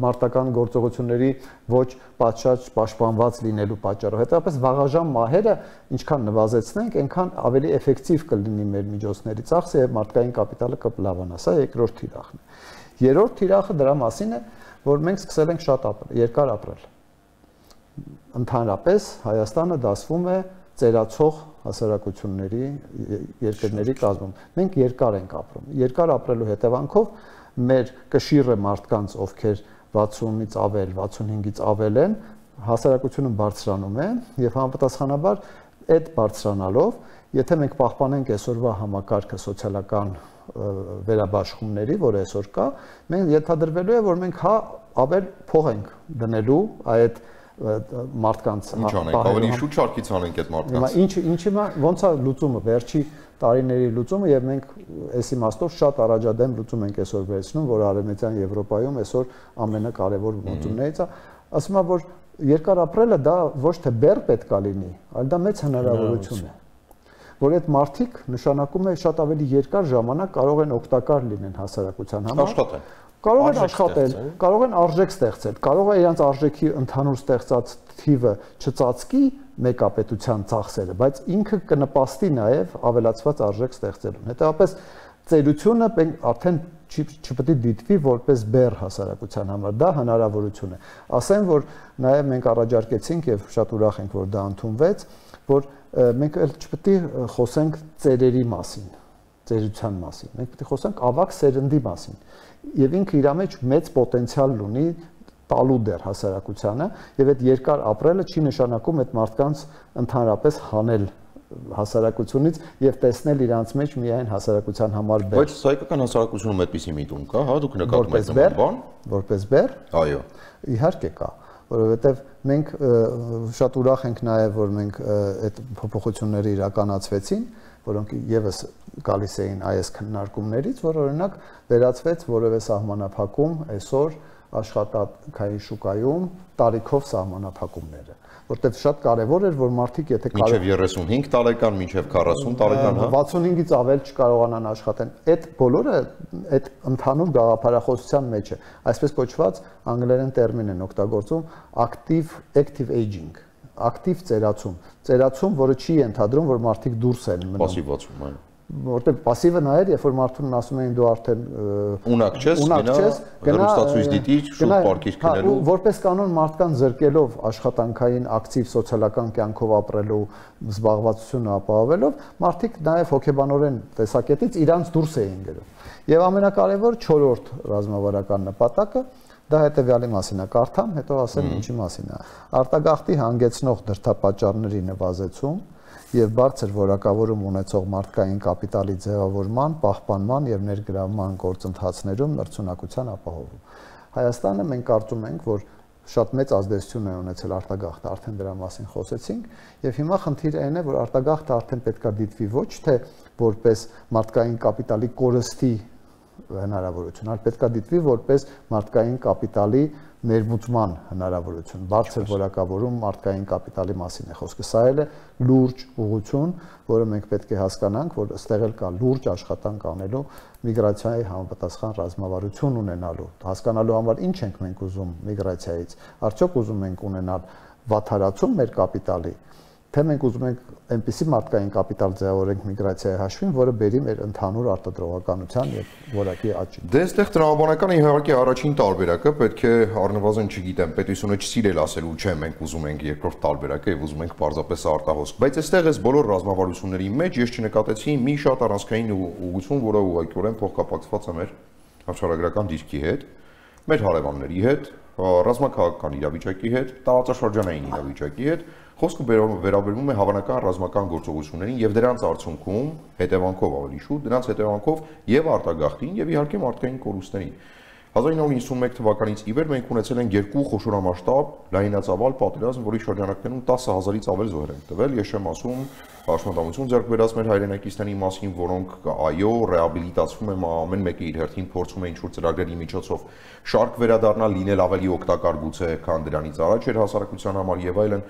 մարտական գործողությունների ոչ պատշաճ պաշտպանված լինելու պատճառով, հետո վաղաժամ մահերը ինչքան նվազեցնենք, այնքան ավելի էֆեկտիվ կլինի մեր միջոցների ծախսը եւ մարդկային կապիտալը կլավանա։ Սա երկրորդ թիրախն է։ Երրորդ թիրախը դրա մասին է, որ մենք սկսել ենք շատ երկար ապրել։ Ընդհանրապես Հայաստանը դասվում է ծերացող հասարակությունների երկրների կազմում։ Մենք երկար ենք ապրում։ Երկար ապրելու հետևանքով մեր կշիռը մարդկանց, ովքեր 60-ից ավել, 65-ից ավել են, հասարակությունը բարձրանում է եւ համապատասխանաբար այդ բարձրանալով, եթե մենք պահպանենք այսօրվա համակարգը սոցիալական վերաբաշխումների, որ այսօր կա, մենք ենթադրվելու է, որ մենք ավել փող ենք դնելու այդ մարդկանց ինչ անենք, ավելի շուտ շարքից անենք այդ մարդկանց։ Ինչի ոնց է լուծումը, վերջի տարիների լուծումը, եւ մենք այս իմաստով շատ առաջադեմ լուծում ենք այսօր վերցնում, որ Արևմտյան Եվրոպայում այսօր ամենակարևոր լուծումներից է, ասում եմ, որ երկար ապրելը դա ոչ թե բեռ պետք է լինի, այլ դա մեծ հնարավորություն է, որ այդ մարդիկ նշանակում է շատ ավելի երկար ժամանակ կարող են օգտակար լինեն հասարակության համար, կարող են աշխատել, կարող են արժեք ստեղծել, կարող է իրենց արժեքի ընդհանուր ստեղծած թիվը չծածկի մեկապետության ծախսերը, բայց ինքը կնպաստի նաև ավելացված արժեք ստեղծելուն։ Հետևաբար ծերությունը արդեն չպետք է դիտվի որպես բեռ հասարակության համար, դա հնարավորություն է։ Ասեմ, որ նաև մենք առաջարկեցինք եւ շատ ուրախ ենք, որ դա ընդունվեց, որ մենք էլ չպետք է խոսենք ծերերի մասին, ծերության մասին։ Մենք պետք է խոսենք ավագ սերնդի մասին։ Եվ ինքը իր մեջ մեծ պոտենցիալ ունի տալու դեր հասարակությանը, եւ այդ երկար ապրելը չի նշանակում այդ մարդկանց ընդհանրապես հանել հասարակությունից եւ տեսնել իրանց մեջ միայն հասարակության համար բեր։ Բայց հայկական հասարակությունում այդպիսի միտում կա, հա, դուք նկատում եք նման բան։ Որպես բեր։ Այո։ Իհարկե կա, որովհետեւ մենք շատ ուրախ ենք նաեւ, որ մենք այդ փոփոխությունները իրականացվեցին, որոնք եւս գալիս էին այս քննարկումներից, որ օրինակ վերացվեց որևէ սահմանափակում այսօր աշխատանքային շուկայում տարիքով սահմանափակումները, որտեղ շատ կարևոր էր, որ մարդիկ եթե մինչև 35 տարեկան, մինչև 40 տարեկան, հա 65-ից ավել չկարողանան աշխատեն, այդ բոլորը այդ ընդհանուր գաղափարախոսության մեջ է, այսպես կոչված անգլերեն տերմին են օգտագործում active aging, ակտիվ ծերացում, որը չի ենթադրում, որ մարդիկ դուրս են մնում։ Պասիվացում, այո։ Որտեղ պասիվը նա էր, երբ որ մարդուն ասում էին դու արդեն ունակ չես, հեռուստացույց դիտի, շուտ պարկիր քնելու։ Որպես կանոն մարդկան զրկելով աշխատանքային ակտիվ սոցիալական կյանքով ապրելու զբաղվածությունը ապահովելով, մարդիկ նաև հոգեբանորեն տեսակետից իրանց դուրս էին գնում։ Եվ ամենակարևոր 4-րդ ռազմավարական նպատակը դա հետեւյալի մասին է, կարդամ, հետո ասեմ ինչի մասին է։ Արտագաղթի հանգեցնող դրդապատճառների նվազեցում եւ բարձր որակավորում ունեցող մարդկային կապիտալի ձևավորման, պահպանման եւ ներգրավման գործընթացներում մրցունակության ապահովում։ Հայաստանը մենք կարծում ենք, որ շատ մեծ ազդեցություն է ունեցել արտագաղթը, արդեն դրա մասին խոսեցինք, եւ հիմա խնդիրը այն է, որ արտագաղթը արդեն պետքա դիտվի ոչ թե որպես մարդկային կապիտալի կորստի հնարավորություն, այլ պետքա դիտվի որպես մարդկային կապիտալի ներմուծման հնարավորություն, բարձր որակավորում մարդկային կապիտալի մասին է խոսքը։ Սա էլ է լուրջ ուղղություն, որը մենք պետք է հասկանանք, որ այստեղ էլ կա լուրջ աշխատանք անելու միգրացիայի համապատասխան ռազմավարություն ունենալու, հասկանալու համար ինչ ենք մենք ուզում միգրացիայից, արդյոք ուզում ենք ունենալ վատթարացում մեր կապիտալի, թե մենք ուզում ենք այնպիսի մարդկային կապիտալ ձևավորենք միգրացիայի հաշվին, որը բերի մեր ընդհանուր արտադրողականության եւ որակի աճին։ Դե այստեղ տրամաբանական իհարկե առաջին տարբերակը պետք է առնվազն չգիտեմ, պետությունը չսիրել ասելու չէ, մենք ուզում ենք երկրորդ տարբերակը եւ ուզում ենք պարզապես արտահոսք, բայց այստեղ էս բոլոր ռազմավարությունների մեջ ես չնկատեցի մի շատ առանցքային ուղղություն, որը ուղղակիորեն փոխկապակցված է մեր Աշխարհագրական դիրքի հետ, մեր հարևանների հետ, ռազմաքաղաքական իրավիճակի հետ, տարածաշրջանային իրավիճակի հետ, խոսքը վերաբերվում է հավանական ռազմական գործողություններին եւ դրանց արդյունքում հետևանքով ավելի շուտ, դրանց հետևանքով եւ արտագաղթին եւ իհարկե մարդկային կորուստներին։ 1991 թվականից ի վեր մենք ունեցել ենք երկու խոշորամասշտաբ լայնածավալ պատերազմ, որի շրջանակներում 10,000-ից ավել զոհեր են տվել։ Ես չեմ ասում պաշտպանություն ձեռք բերած մեր հայրենակիցների մասին, որոնք այո, ռեաբիլիտացվում են ամեն մեկը իր հերթին փորձում է ինչ-որ ծրագրերի միջոցով շարք վերադառնալ, լինել ավելի օգտակար գուցե, քան դրանից առաջ էր հասարակության համար եւ այլն,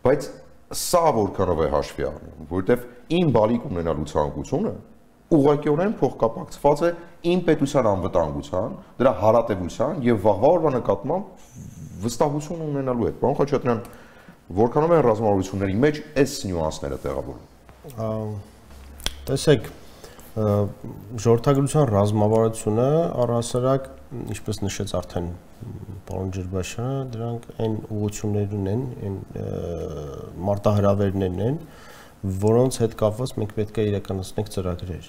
բայց սա որքանով է հաշվի առնում, որովհետեւ իմ բալիկ ունենալու ցանկությունը ուղղակիորեն փոխկապակցված է իմ պետության անվտանգության, դրա հարատևության եւ վաղվա օրվա նկատմամբ վստահություն ունենալու հետ։ Պարոն Խաչատրյան, որքանով են ռազմավարությունների մեջ այս նյուանսները տեղավորվում։ Տեսեք, ժողովրդագրության ռազմավարությունը առհասարակ, ինչպես նշեց արդեն պարոն Ջրբաշյանը, դրանք այն ուղղություններն են, այն մարտահրավերներն են, որոնց հետ կապված մենք պետք է իրականացնենք ծրագրեր։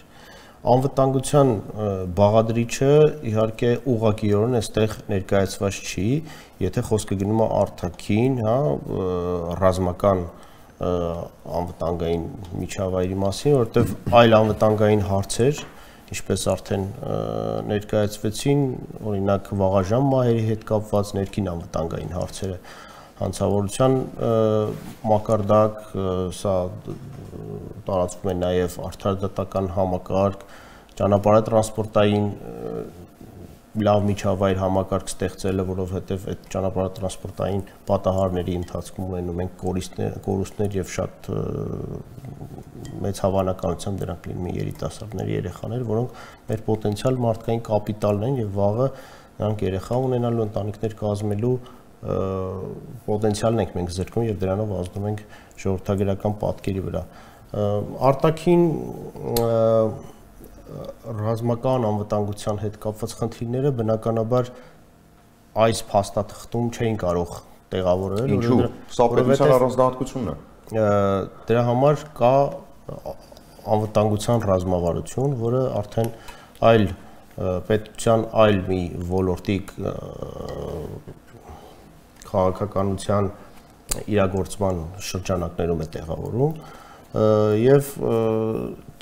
Անվտանգության բաղադրիչը իհարկե ուղղակիորեն այստեղ ներկայացված չի, եթե խոսքը գնում է արտաքին, հա, ռազմական անվտանգային միջավայրի մասին, որովհետև այլ անվտանգային հարցեր, ինչպես արդեն ներկայացվեցին, օրինակ վաղաժամ մահերի հետ կապված ներքին անվտանգային հարցերը, հանցավորության մակարդակ, սա տարածվում է նաև արդարադատական համակարգ, ճանապարհատրանսպորտային լավ միջավայր համակարգ ստեղծելը, որովհետև այդ ճանապարհատրանսպորտային պատահարների ընթացքում ունենում ենք կորուստներ եւ շատ մեծ հավանականությամբ դրանք լինում են երիտասարդներ, երեխաներ, որոնք մեր պոտենցիալ մարդկային կապիտալն են եւ վաղը նրանք երեխա ունենալու, ընտանիքներ կազմելու պոտենցիալն ենք մենք զրկում եւ դրանով ազդում ենք ժողովրդագրական պատկերի վրա։ Արտաքին ռազմական անվտանգության հետ կապված խնդիրները բնականաբար այս փաստաթղթում չէին կարող տեղավորել, Ինչու՞։ Սա պետության առանձնահատկությունն է։ Դրա համար կա անվտանգության ռազմավարություն, որը արդեն այլ պետության այլ մի ոլորտի քաղաքականության իրագործման շրջանակներում է տեղավորում եւ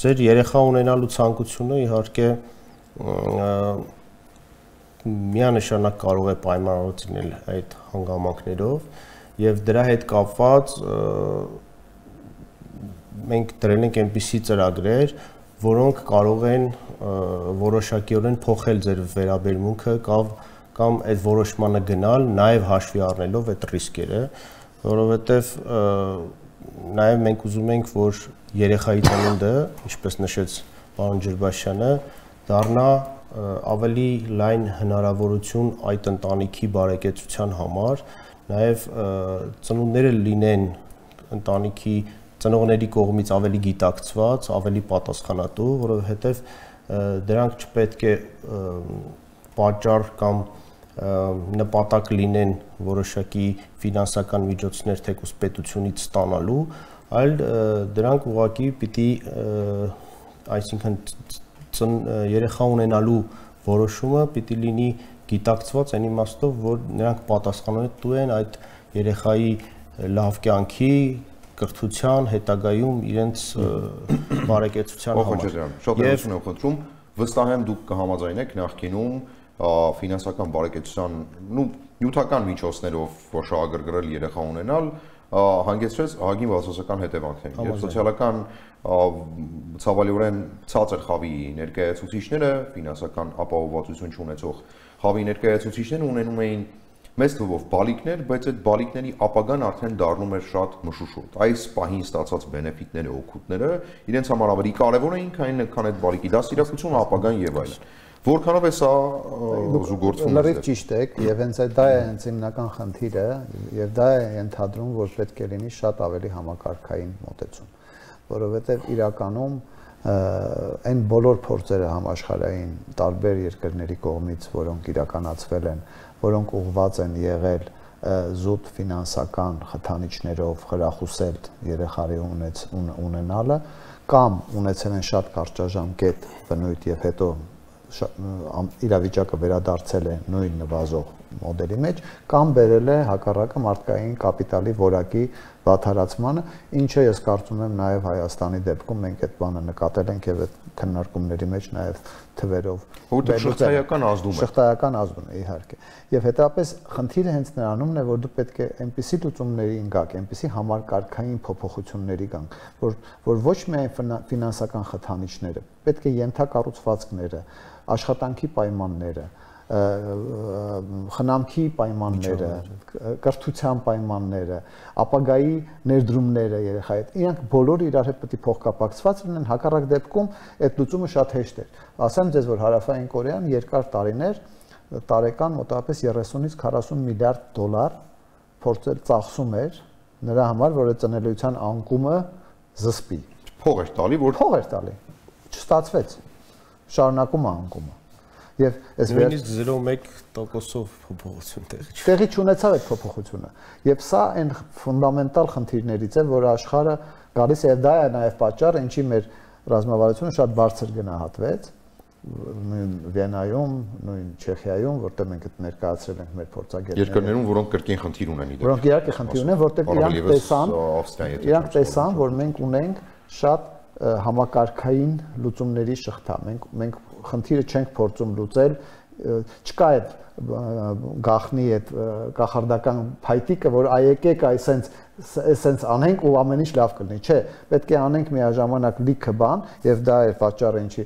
ձեր երեխա ունենալու ցանկությունը իհարկե միանշանակ կարող է պայմանավորել այդ հանգամանքներով եւ դրա հետ կապված մենք դրել ենք այնպիսի ծրագրեր, որոնք կարող են որոշակիորեն փոխել ձեր վերաբերմունքը կամ այդ որոշմանը գնալ, նաև հաշվի առնելով այդ ռիսկերը, որովհետև նաև մենք ուզում ենք, որ երեխայի ծնունդը, ինչպես նշեց պարոն Ջրբաշյանը, դառնա ավելի լայն հնարավորություն այդ ընտանիքի բարեկեցության համար, նաև ծնունդները լինեն ընտանիքի ծնողների կողմից ավելի գիտակցված, ավելի պատասխանատու, որովհետև դրանք չպետք է պատճառ կամ նպատակ լինեն որոշակի ֆինանսական միջոցներ թեկուզ պետությունից ստանալու, այլ դրանք ուղղակի պիտի, այսինքն երեխա ունենալու որոշումը պիտի լինի գիտակցված այն իմաստով, որ նրանք պատասխանատու են այդ երեխայի լավ կյանքի, կրթության, հետագայում իրենց բարեկեցության համար։ Շատ ներողություն եմ խնդրում, վստահ եմ դուք կհամաձայնեք նախկինում ֆինանսական բարեկեցության նյութական միջոցներով շահագրգռել երեխա ունենալ հանգեցրեց ահագին բացասական հետևանքների եւ սոցիալական ցավալիորեն ցածր խավի ներկայացուցիչները ֆինանսական ապահովվածություն չունեցող խավի ներկայացուցիչները ունենում էին մեծ թվով բալիկներ, բայց այդ բալիկների ապագան արդեն դառնում էր շատ մշուշոտ։ Այս պահին ստացած բենեֆիտները, օգուտները իրենց համար ավելի կարևոր էին, քան այդ բալիկի դաստիարակությունը, ապագան եւ այլն։ Որքանով է սա զուգորդվում։ Լրիվ ճիշտ եք, եւ հենց դա է հենց հիմնական խնդիրը, եւ դա է ընդհանրում, որ պետք է լինի շատ ավելի համակարգային մոտեցում, որովհետեւ իրականում այն բոլոր փորձերը համաշխարհային տարբեր երկրների կողմից, որոնք իրականացվել են, որոնք ուղղված են եղել զուտ ֆինանսական խթանիչներով խրախուսել երեխայի ունենալը կամ ունեցել են շատ կարճաժամկետ բնույթ եւ հետո իրավիճակը վերադարձել է նույն նվազող մոդելի մեջ, կամ բերել է հակառակը մարդկային կապիտալի որակի վատթարացմանը, ինչը ես կարծում եմ նաև Հայաստանի դեպքում մենք այդ բանը նկատել ենք եւ այդ քննարկումների մեջ նաև թվերով շղթայական ազդում է։ Շղթայական ազդում է, իհարկե։ Եվ հետապես խնդիրը հենց նրանումն է, որ դու պետք է այնպիսի լուծումների գաք, այնպիսի համակարգային փոփոխությունների գանք, որ ոչ միայն ֆինանսական խթանիչները, պետք է ենթակառուցվածքները, աշխատանքի պայմանները, խնամքի պայմանները, կրթության պայմանները, ապագայի ներդրումները երեխայի հետ, իրանք բոլորը իրար հետ պետք է փոխկապակցված լինեն, հակառակ դեպքում այդ լուծումը շատ հեշտ է։ Ասեմ ձեզ, որ Հարավային Կորեան երկար տարիներ տարեկան մոտավորապես 30-ից 40 միլիարդ դոլար փորձել ծախսում էր նրա համար, որ այդ ծնելիության անկումը զսպի։ Փող էր տալի, որ փող էր տալի։ Չստացվեց։ Շարունակում է անկումը։ Եվ այս նույնիսկ 0.1%-ով փոփոխություն տեղի չունեցավ այդ փոփոխությունը։ Եվ սա այն ֆունդամենտալ խնդիրներից է, որ աշխարհը գալիս է, եւ դա է նաեւ պատճառը, ինչի մեր ռազմավարությունը շատ բարձր գնահատվեց նույն Վիեննայում, նույն Չեխիայում, որտեղ մենք այդ ներկայացրել ենք մեր փորձագետները։ Երկրներում, որոնք կրկին խնդիր ունեն իդեպ։ Որոնք իհարկե խնդիր ունեն, որտեղ իրանք տեսան, որ մենք ունենք շատ համակարգային լուծումների շղթա։ Մենք խնդիրը չենք փորձում լուծել, չկա այդ գախնի այդ կախարդական փայտիկը, որ եկեք այսենց անենք ու ամեն ինչ լավ կլինի, չէ, պետք է անենք միաժամանակ լիքը բան, եւ դա է պատճառը, ինչի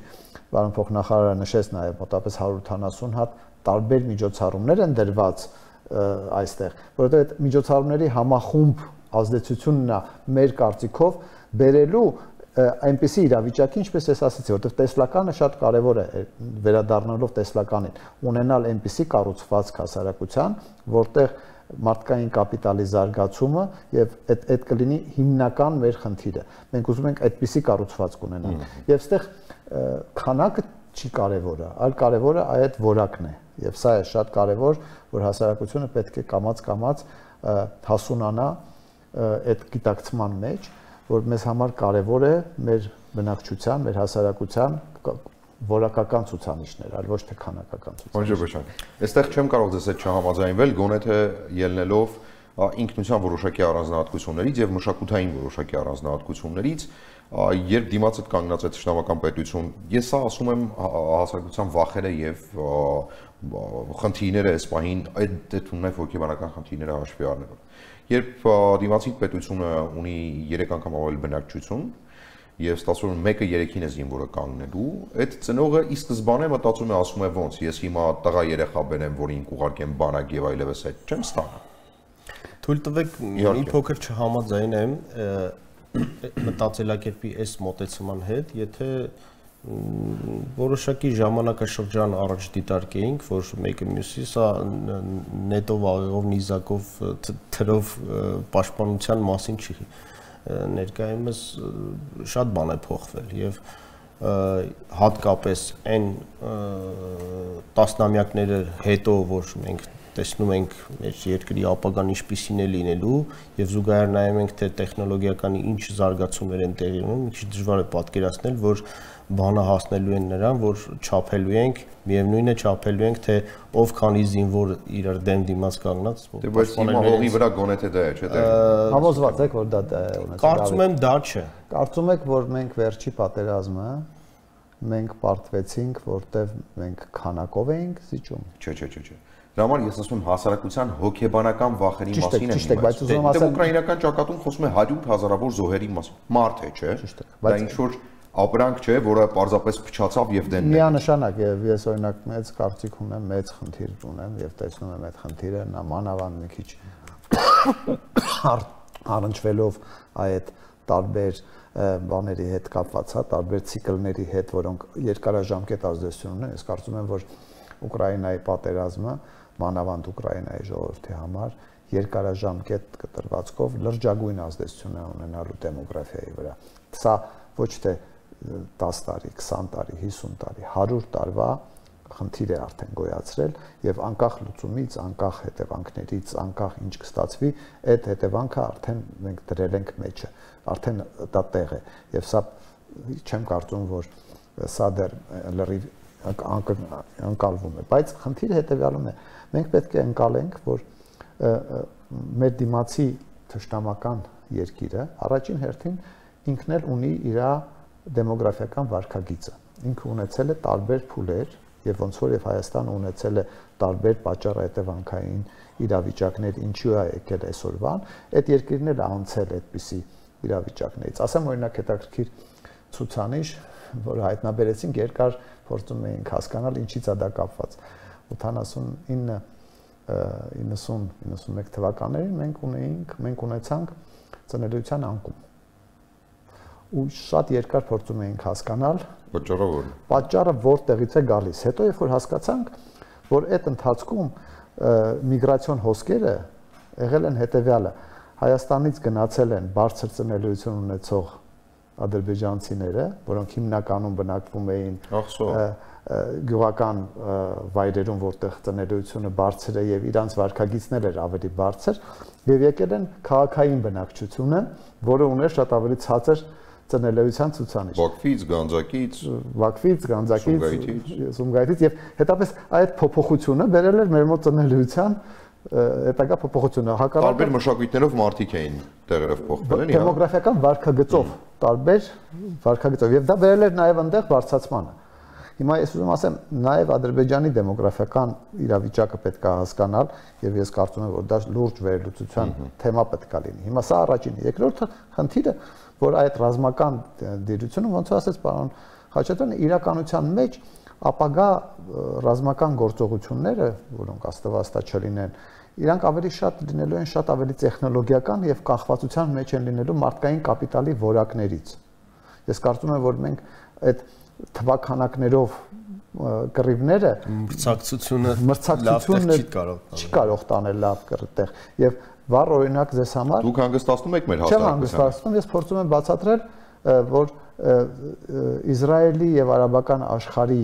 պարոն փոխնախարարը նշեց նաեւ մոտավորապես 180 հատ տարբեր միջոցառումներ են դրված այստեղ, որովհետեւ այդ միջոցառումների համախումբ ազդեցությունն է մեր կարծիքով բերելու այնպիսի իրավիճակի, ինչպես ես ասացի, որտեղ տեսլականը շատ կարևոր է, վերադառնալով տեսլականին, ունենալ այնպիսի կառուցվածք հասարակության, որտեղ մարդկային կապիտալի զարգացումը եւ այդ կլինի հիմնական մեր խնդիրը։ Մենք ուզում ենք այդպիսի կառուցվածք ունենալ։ Եվ այստեղ քանակը չի կարևորը, այլ կարևորը այդ որակն է։ Եվ սա է շատ կարևոր, որ հասարակությունը պետք է կամաց հասունանա այդ գիտակցման մեջ, որ մեզ համար կարևոր է մեր բնակչության, մեր հասարակության որակական ցուցանիշներ, այլ ոչ թե քանակական ցուցանիշներ։ Այստեղ չեմ կարող ձեզ հետ չհամաձայնվել, գոնե թե ելնելով ինքնության որոշակի առանձնահատկություններից եւ մշակութային որոշակի առանձնահատկություններից, երբ դիմաց այդ կանգնած է ճշտամական պետություն, ես սա ասում եմ հասարակության վախերը եւ խնդիրները այս պահին այդ դեպքում նաեւ հոգեբանական խնդիրները հաշվի առնելով։ Երբ դիմացի պետությունը ունի 3 անգամ ավելի բնակչություն եւ ստացվում է մեկը 3-ին է զինվորը կանգնելու, այդ ծնողը ի սկզբանե մտածում է, ասում է ոնց, ես հիմա տղա երեխա բերեմ, որին կուղարկեմ բանակ եւ այլևս այդ չեմ ստանա։ Թույլ տվեք մի փոքր չհամաձայնեմ մտածելակերպի այս մոտեցման հետ, եթե որոշակի ժամանակաշրջան առաջ դիտարկեինք, որ մեկը մյուսի սա նետով աղեղով նիզակով թրով պաշտպանության մասին չի, ներկայումս շատ բան է փոխվել եւ հատկապես այն տասնամյակները հետո, որ մենք տեսնում ենք մեր երկրի ապագան ինչպիսին է լինելու եւ զուգահեռ նայում ենք թե տեխնոլոգիականի ինչ զարգացումներ են տեղի ունենում, մի քիչ դժվար է պատկերացնել, որ բանը հասնելու են նրան, որ չափելու ենք, միևնույն է չափելու ենք, թե ով քանի զինվոր իրար դիմաց կանգնած, որ բայց հիմա հողի վրա գոնե թե դա է, չէ՞։ Համոզված եք, որ դա է ունեցել։ Կարծում եմ դա չէ։ Կարծում եք, որ մենք վերջի պատերազմը մենք պարտվեցինք, որտեվ մենք քանակով էինք զիջում։ Չէ։ Դրա համար ես ասում եմ հասարակության հոգեբանական վախերի մասին եմ ասում։ Բայց ուզում ասեմ, ուկրաինական ճակատում խոսում է 100,000-ավոր զոհերի մասին։ Մարդ է, չէ։ Դա ինչ որ ապրանք չէ, որը պարզապես փչացավ եւ դենն է։ Միանշանակ եւ ես օրինակ մեծ կարծիք ունեմ, մեծ խնդիր ունեմ եւ տեսնում եմ այդ խնդիրը նամանավան մի քիչ առնչվելով այդ տարբեր բաների հետ կապված, տարբեր ցիկլների հետ, որոնք երկարաժամկետ ազդեցություն ունեն։ Ես կարծում եմ, որ Ուկրաինայի պատերազմը մանավանդ Ուկրաինայի ժողովրդի համար երկարաժամկետ կտրվածքով լրջագույն ազդեցություն է ունենալու դեմոգրաֆիայի վրա։ Սա ոչ թե 10 տարի, 20 տարի, 50 տարի, 100 տարվա խնդիր է արդեն գոյացրել եւ անկախ լուծումից, անկախ հետևանքներից, անկախ ինչ կստացվի, այդ հետևանքը արդեն մենք դրել ենք մեջը, արդեն դա տեղ է եւ սա չեմ կարծում, որ սա դեռ լրիվ անկալվում է, բայց խնդիրը հետևյալն է, մենք պետք է ընկալենք, որ մեր դիմացի թշնամական երկիրը առաջին հերթին ինքն էլ ունի իր դեմոգրաֆիական վարքագիծը, ինքը ունեցել է տարբեր փուլեր եւ ոնց որ եւ Հայաստանը ունեցել է տարբեր պատճառահետևանքային իրավիճակներ, ինչու է եկել այսօրվան, այդ երկիրն էլ անցել այդպիսի իրավիճակներից։ Ասեմ օրինակ հետաքրքիր ցուցանիշ, որ հայտնաբերեցինք, երկար փորձում էինք հասկանալ ինչից է դա կապված։ 89-91 թվականներին մենք ունեցանք ծնելիության անկում։ Ու շատ երկար փորձում էինք հասկանալ պատճառը որտեղից է գալիս։ Հետո երբ որ հասկացանք, որ այդ ընթացքում միգրացիոն հոսքերը եղել են հետևյալը. Հայաստանից գնացել են բարձր ծնելիություն ունեցող ադրբեջանցիները, որոնք հիմնականում բնակվում էին գյուղական վայրերում, որտեղ ծնելիությունը բարձր է եւ իրանց վարքագիծն էր ավելի բարձր, եւ եկել են քաղաքային բնակչությունը, որը ուներ շատ ավելի ցածր ծնելիության ցուցանիշ։ Բաքվից, Գանձակից, Սումգայիթից եւ հետապես այդ փոփոխությունը բերել էր մեր մոտ ծնելիության հետագա փոփոխությունը տարբեր մշակույթներով մարդիկ էին տեղերով փոխվել են դեմոգրաֆիական վարքագծով տարբեր վարքագծով եւ դա բերել էր նաեւ այնտեղ բարձրացմանը։ Հիմա ես ուզում ասեմ նաեւ Ադրբեջանի դեմոգրաֆիական իրավիճակը պետք է հասկանալ եւ ես կարծում եմ որ դա լուրջ վերլուծության թեմա պետք է լինի։ Հիմա սա առաջինը, երկրորդը խնդիրը որ այդ ռազմական դիրությունը ոնց ասեց պարոն Խաչատրյանը իրականության մեջ ապագա ռազմական գործողությունները, որոնք աստվածտա չլինեն, իրանք ավելի շատ լինելու են շատ ավելի տեխնոլոգիական եւ կախվածության մեջ են լինելու մարդկային կապիտալի որակներից։ Ես կարծում եմ, որ մենք այդ թվականակներով կռիվները մրցակցությունը չի կարող տանել լավ կռտեղ եւ վառ օրինակ ձեզ համար դուք հանգստացնում եք մեր հաստատությունը։ Չեմ հանգստացնում, ես փորձում եմ բացատրել, որ Իսրայելի եւ արաբական աշխարհի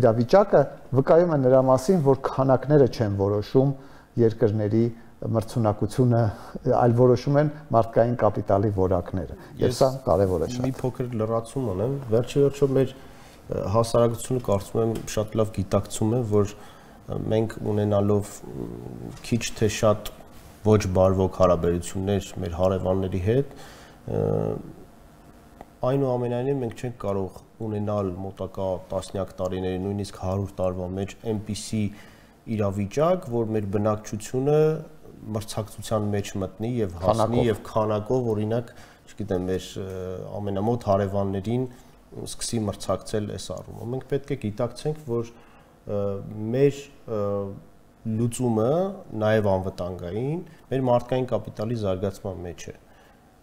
իրավիճակը վկայում է նրա մասին, որ քանակները չեն որոշում երկրների մրցունակությունը, այլ որոշում են մարդկային կապիտալի որակները։ Եվ սա կարևոր է շատ։ Մի փոքր լրացում ունեմ, վերջիվերջո մեր հասարակությունը կարծում եմ շատ լավ գիտակցում է, որ մենք ունենալով քիչ թե շատ ոչ բարվոք հարաբերություններ մեր հարևանների հետ, այնուամենայնիվ մենք չենք կարող ունենալ մոտակա տասնյակ տարիների, նույնիսկ 100 տարվա մեջ այնպիսի իրավիճակ, որ մեր բնակչությունը մրցակցության մեջ մտնի եւ հասնի եւ քանակով, օրինակ, չգիտեմ, մեր ամենամոտ հարևաններին սկսի մրցակցել այս առումով։ Մենք պետք է գիտակցենք, որ մեր լուծումը նաև անվտանգային մեր մարդկային կապիտալի զարգացման մեջ է,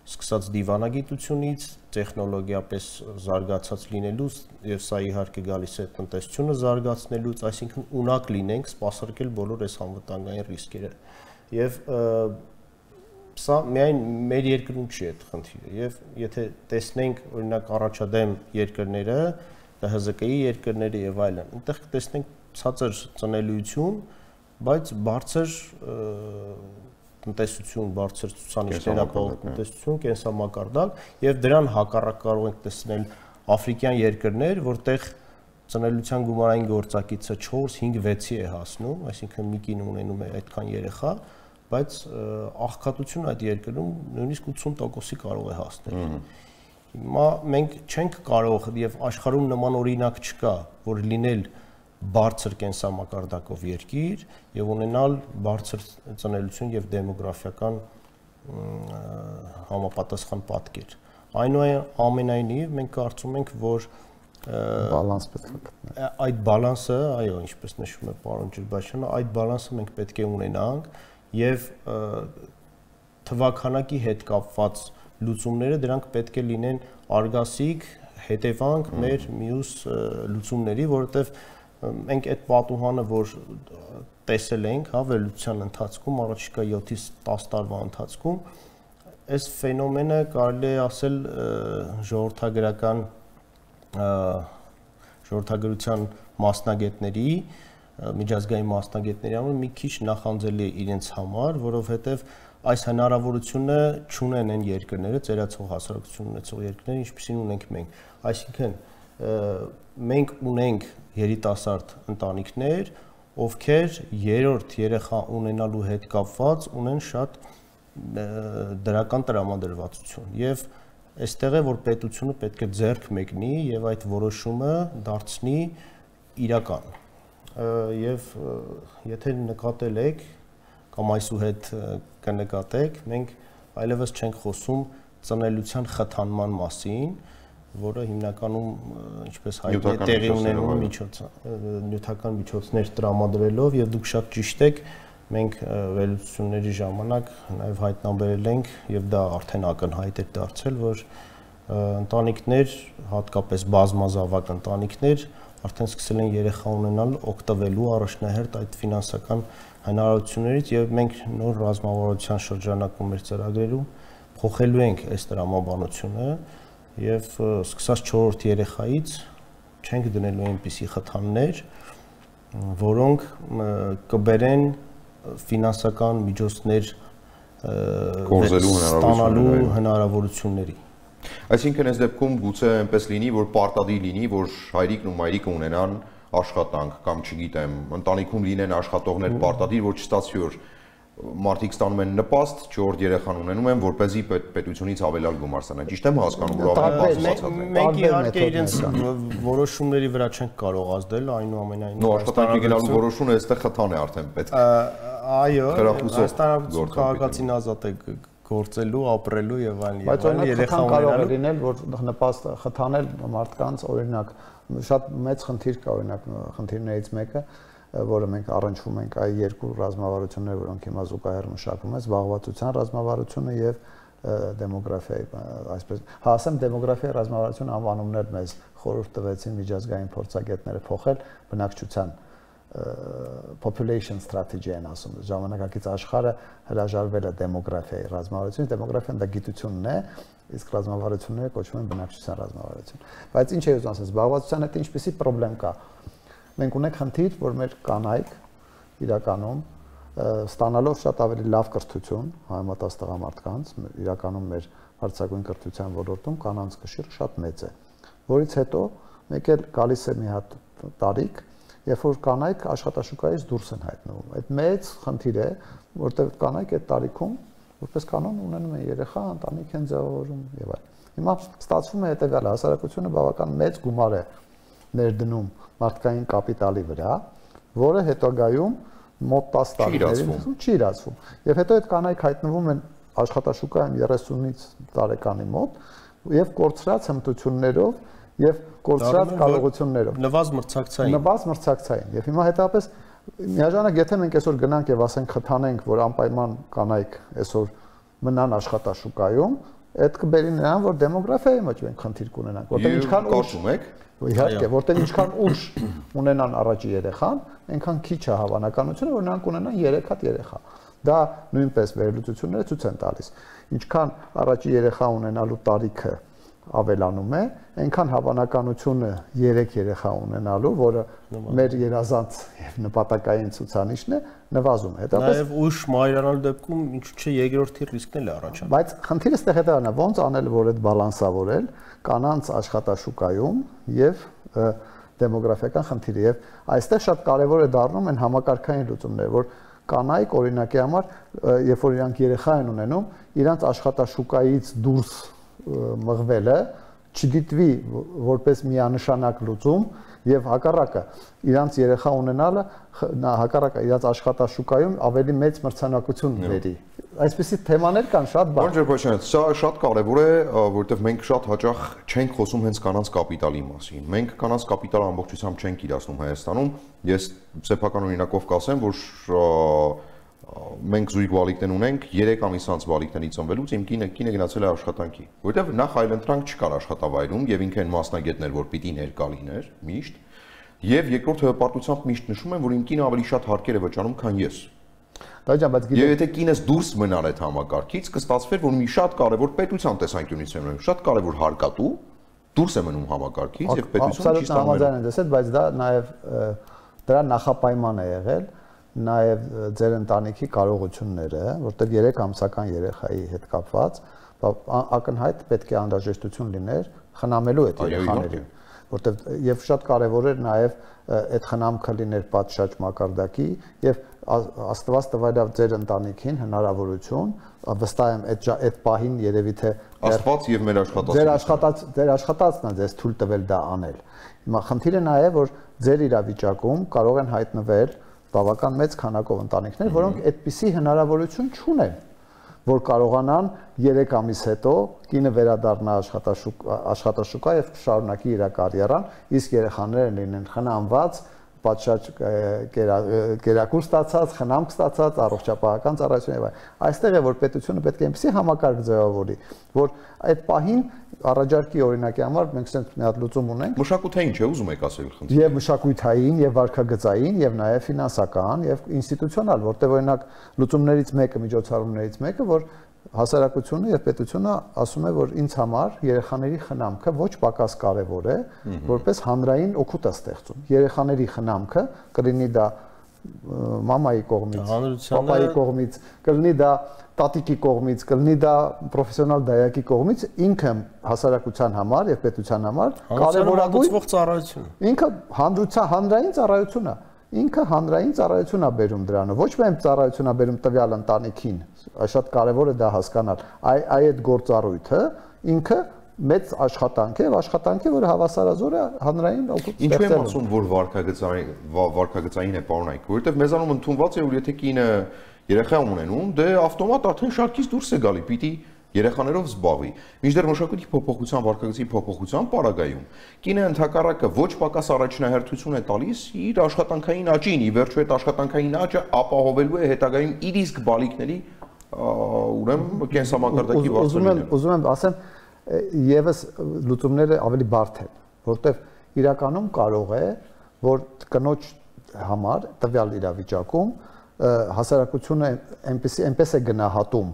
սկսած դիվանագիտությունից, տեխնոլոգիապես զարգացած լինելուց եւ սա իհարկե գալիս է տնտեսությունը զարգացնելուց, այսինքն ունակ լինենք սպասարկել բոլոր այս անվտանգային ռիսկերը։ Եվ սա միայն մեր երկրում չի այդ խնդիրը, եւ եթե տեսնենք օրինակ առաջադեմ երկրները, ՀԶԿ-ի երկրները եւ այլն, այնտեղ կտեսնենք ցածր ծնելիություն, բայց բարձր տնտեսություն, բարձր ցուցանիշներ ապահով տնտեսություն, կենսամակարդակ եւ դրան հակառակ կարող ենք տեսնել աֆրիկյան երկրներ, որտեղ ծնելիության գումարային գործակիցը 4-5-6-ի է հասնում, այսինքն մի կին ունենում է այդքան երեխա, բայց աղքատությունը այդ երկրում նույնիսկ 80%-ի կարող է հասնել։ Հիմա մենք չենք կարող եւ աշխարհում նման օրինակ չկա, որ լինել բարձր կենսամակարդակով երկիր եւ ունենալ բարձր ծնելիություն եւ դեմոգրաֆիական համապատասխան պատկեր։ Այնուամենայնիվ մենք կարծում ենք, որ բալանս պետք է գտնել։ Այդ բալանսը, այո, ինչպես նշում է պարոն Ջրբաշյանը, այդ բալանսը մենք պետք է ունենանք եւ թվականակի հետ կապված լուծումները դրանք պետք է լինեն արգասիկ հետևանք մեր մյուս լուծումների, որովհետեւ մենք այդ պատուհանը, որ տեսել ենք, հա, վերլուծության ընթացքում, առաջիկա 7-ից 10 տարվա ընթացքում, այս ֆենոմենը կարելի է ասել ժողովրդագրության մասնագետների, միջազգային մասնագետների համար մի քիչ նախանձելի է իրենց համար, որովհետև այս հնարավորությունը չունեն այն երկրները, ծերացող հասարակություն ունեցող երկրները, ինչպիսին ունենք մենք։ Այսինքն մենք ունենք երիտասարդ ընտանիքներ, ովքեր երրորդ երեխա ունենալու հետ կապված ունեն շատ դրական տրամադրվածություն եւ այստեղ է որ պետությունը պետք է ձեռք մեկնի եւ այդ որոշումը դարձնի իրական եւ եթե նկատել եք կամ այսուհետ կնկատեք մենք այլևս չենք խոսում ծնելիության խթանման մասին, որը հիմնականում ինչպես հայտնի է տեղի ունենում նյութական միջոցներ տրամադրելով եւ դուք շատ ճիշտ եք, մենք վերլուծությունների ժամանակ նաեւ հայտնաբերել ենք եւ դա արդեն ակնհայտ է դարձել, որ ընտանիքներ, հատկապես բազմազավակ ընտանիքներ արդեն սկսել են երեխա ունենալ օգտվելու առաջնահերթ այդ ֆինանսական հնարավորություններից եւ մենք նոր ռազմավարության շրջանակում մեր ծրագրերում փոխելու ենք այս տրամաբանությունը եւ սկսած 4-րդ երեխայից չենք դնելու այնպիսի խթաններ, որոնք կբերեն ֆինանսական միջոցներ ստանալու հնարավորությունների։ Այսինքն այս դեպքում գուցե այնպես լինի, որ պարտադիր լինի, որ հայրիկն ու մայրիկը ունենան աշխատանք կամ չգիտեմ, ընտանիքում լինեն աշխատողներ պարտադիր, որ չստացվի որ մարդիկ ստանում են նպաստ, 4 երեխան ունենում են, որպեսզի պետությունից ավելալ գումար ստանան։ Ճիշտ եմ հասկանում, որ բացվածած են։ Մենք իհարկե իրենց որոշումների վրա չենք կարող ազդել, այնուամենայնիվ նո աշխատանքի գնալու որոշումը այստեղ խթան է արդեն պետք։ Այո, հաստատություն քաղաքացին ազատ է գործելու, ապրելու եւ այլն երեխա ունենալու լինել, որ նպաստ խթանել մարդկանց, օրինակ շատ մեծ խնդիր կա, օրինակ խնդիրներից մեկը որը մենք առնչվում ենք այ երկու ռազմավարություններ, որոնք հիմա զուգահեռ մշակվում են, զբաղվածության ռազմավարությունը եւ դեմոգրաֆիայի, այսպես, ասեմ դեմոգրաֆիայի ռազմավարություն անվանումներ մեզ խորհուրդ տվեցին միջազգային փորձագետները փոխել բնակչության population strategy են ասում, ժամանակակից աշխարհը հրաժարվել է դեմոգրաֆիայի ռազմավարությունից, դեմոգրաֆիան դա գիտությունն է, իսկ ռազմավարությունները կոչվում են բնակչության ռազմավարություն։ Բայց ինչ է ուզում ասել, զբաղվածության հետ ինչպիսի խնդրեմ կա։ Մենք ունենք խնդիր, որ մեր կանայք իրականում ստանալով շատ ավելի լավ կրթություն համեմատած տղամարդկանց, իրականում մեր հարցակույն կրթության ոլորտում կանանց կշիռը շատ մեծ է, որից հետո մեկ էլ գալիս է մի հատ տարիք, երբ որ կանայք աշխատաշուկայից դուրս են հայտնվում։ Այդ մեծ խնդիր է, որտեղ կանայք այդ տարիքում որպես կանոն ունենում են երեխա, ընտանիք են ձևավորում եւ այլն։ Հիմա ստացվում է հետեւյալը, հասարակությունը բավական մեծ գումար է ներդնում մարդկային կապիտալի վրա, որը հետագայում մոտ 10 տարիներին չի իրացվում։ Եվ հետո այդ կանայք հայտնվում են աշխատաշուկայում 30-ից տարեկանի մոտ եւ կորցրած հմտություններով եւ կորցրած կարողություններով։ Նվազ մրցակցային։ Եվ հիմա հետապես միաժամանակ եթե մենք այսօր գնանք եւ ասենք խթանենք, որ անպայման կանայք այսօր մնան աշխատաշուկայում, այդ կբերի նրան, որ դեմոգրաֆիայի մեջ մենք խնդիր կունենանք, որտեղ ինչքան կարծում եք Իհարկե, որտեղ ինչքան ուշ ունենան առաջի երեխան, այնքան քիչ է հավանականությունը, որ նրանք ունենան 3 հատ երեխա։ Դա նույնպես վերլուծությունները ցույց են տալիս։ Ինչքան առաջի երեխա ունենալու տարիքը ավելանում է, այնքան հավանականությունը 3 երեխա ունենալու, որը մեր երազանց եւ նպատակային ցուցանիշն է, նվազում է։ Հետո ուշ մայրանալու դեպքում ինչու՞ չէ երկրորդի ռիսկն էլ է առաջանում։ Բայց խնդիրը ստեղ հետևն է, ոնց անել, որ այդ բալանսավորել կանանց աշխատաշուկայում եւ դեմոգրաֆիական խնդիրը եւ այստեղ շատ կարեւոր է դառնում են համակարգային լուծումները, որ կանայք օրինակի համար, երբ որ իրանք երեխա են ունենում, իրանք աշխատաշուկայից դուրս մղվելը չդիտվի որպես միանշանակ լուծում եւ հակառակը իրանց երեխա ունենալը հակառակը իրանց աշխատաշուկայում ավելի մեծ մրցանակություն բերի։ Այսպիսի թեմաներ կան շատ բան։ Պարոն Ջերբաշյան, սա շատ կարևոր է, որովհետեւ մենք շատ հաճախ չենք խոսում հենց կանանց կապիտալի մասին։ Մենք կանանց կապիտալը ամբողջությամբ չենք իրացնում Հայաստանում։ Ես սեփական օրինակով կասեմ, որ մենք զույգ վալիկներ ունենք, 3 ամիս անց վալիկներից ծնվելուց իմ կինը գնացել է աշխատանքի, որովհետև նախ այլընտրանք չկար աշխատավայրում եւ ինքը այն մասնագետներ, որ պիտի ներկա լիներ միշտ, եւ երկրորդ հպարտությամբ միշտ նշում եմ, որ իմ կինը ավելի շատ հարկեր է վճարում, քան ես։ Եվ եթե կինս դուրս մնար այդ համակարգից, կստացվեր, որ մի շատ կարևոր պետության տեսանկյունից եմ նայում, շատ կարևոր հարկատու դուրս է մնում համակարգից եւ պետությունը չի ստանում։ Բայց դա նաեւ դրա նախապայման է եղել նաև ձեր ընտանիքի կարողությունները, որտեղ 3 ամսական երեխայի հետ կապված ակնհայտ պետք է անհրաժեշտություն լիներ խնամելու այդ երեխաներին։ որտեղ եւ շատ կարեւոր էր նաեւ այդ խնամքը լիներ պատշաճ մակարդակի եւ Աստված տվայր ձեր ընտանիքին հնարավորություն, վստահ եմ այդ պահին երևի թե Աստված եւ մեր աշխատած ձեր աշխատածն է ձեզ թույլ տվել դա անել։ Հիմա խնդիրը նա է, որ ձեր իրավիճակում կարող են հայտնվել բավական մեծ քանակով ընտանիքներ, որոնք այդպիսի հնարավորություն չունեն, որ կարողանան 3 ամիս հետո կինը վերադառնա աշխատաշուկա եւ շարունակի իր կարիերան, իսկ երեխաները լինեն խնամված, պատշաճ կերակուր ստացած, խնամք ստացած, առողջապահական ծառայություն եւ այլն։ Այստեղ է որ պետությունը պետք է այնպեսի համակարգ ձևավորի, որ այդ պահին առաջարկի օրինակի համար մենք ցենց մի հատ լուծում ունենք։ Մշակութային չէ, ուզում եք ասել խնդիրը։ Եվ մշակութային, եւ վարքագծային, եւ նաեւ ֆինանսական, եւ ինստիտուցիոնալ, որտեղ օրինակ լուծումներից մեկը, միջոցառումներից մեկը, որ հասարակությունը եւ պետությունը ասում է, որ ինձ համար երեխաների խնամքը ոչ պակաս կարեւոր է, որպես հանրային օգուտ է ստեղծում։ Երեխաների խնամքը կլինի դա մամայի կողմից, պապայի կողմից, կլինի դա տատիկի կողմից, կլինի դա պրոֆեսիոնալ դայակի կողմից, ինքը հասարակության համար եւ պետության համար կարեւորագույն ծառայություն։ Ինքը հանրային ծառայություն է։ Ինքը հանրային ծառայություն է բերում դրանը, ոչ միայն ծառայություն է բերում տվյալ ընտանիքին, շատ կարևոր է դա հասկանալ, այդ գործառույթը ինքը մեծ աշխատանք է եւ աշխատանք է, որը հավասարազոր է հանրային օգուտ ստեղծելու։ Ինչու եմ ասում, որ վարքագծային է պարոնայք, որովհետեւ մեզանում ընդունված է, որ եթե կինը երեխա ունենում, դե ավտոմատ արդեն շարքից դուրս է գալի, պիտի երեխաներով զբաղվի։ Մինչդեռ մշակույթի փոփոխության, վարքագծի փոփոխության պարագայում կինը ընդհակառակը ոչ պակաս առաջնահերթություն է տալիս իր աշխատանքային աճին, ի վերջո այդ աշխատանքային աճը ապահովելու է հետագայում իր իսկ բալիկների ուրեմն կենսամակարդակի բարձրացումը։ Ուզում եմ ասեմ, եւս լուծումները ավելի բարդ են, որտեղ իրականում կարող է, որ կնոջ համար տվյալ իրավիճակում հասարակությունը այնպես է գնահատում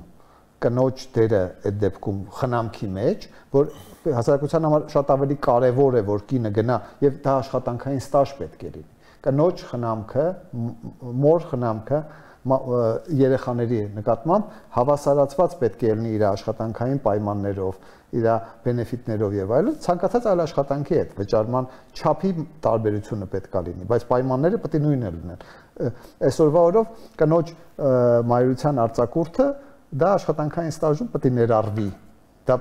կնոջ դերը այդ դեպքում խնամքի մեջ, որ հասարակության համար շատ ավելի կարևոր է, որ կինը գնա եւ դա աշխատանքային ստաժ պետք է լինի։ Կնոջ խնամքը, մոր խնամքը երեխաների նկատմամբ հավասարացված պետք է լինի իր աշխատանքային պայմաններով, իր բենեֆիտներով եւ այլն, ցանկացած այլ աշխատանքի հետ վճարման չափի տարբերությունը պետք է լինի, բայց պայմանները պետք է նույնն լինեն։ Այսօրվա օրով կնոջ մայրության արձակուրդը դա աշխատանքային ստաժում պետք է ներառվի։ Դա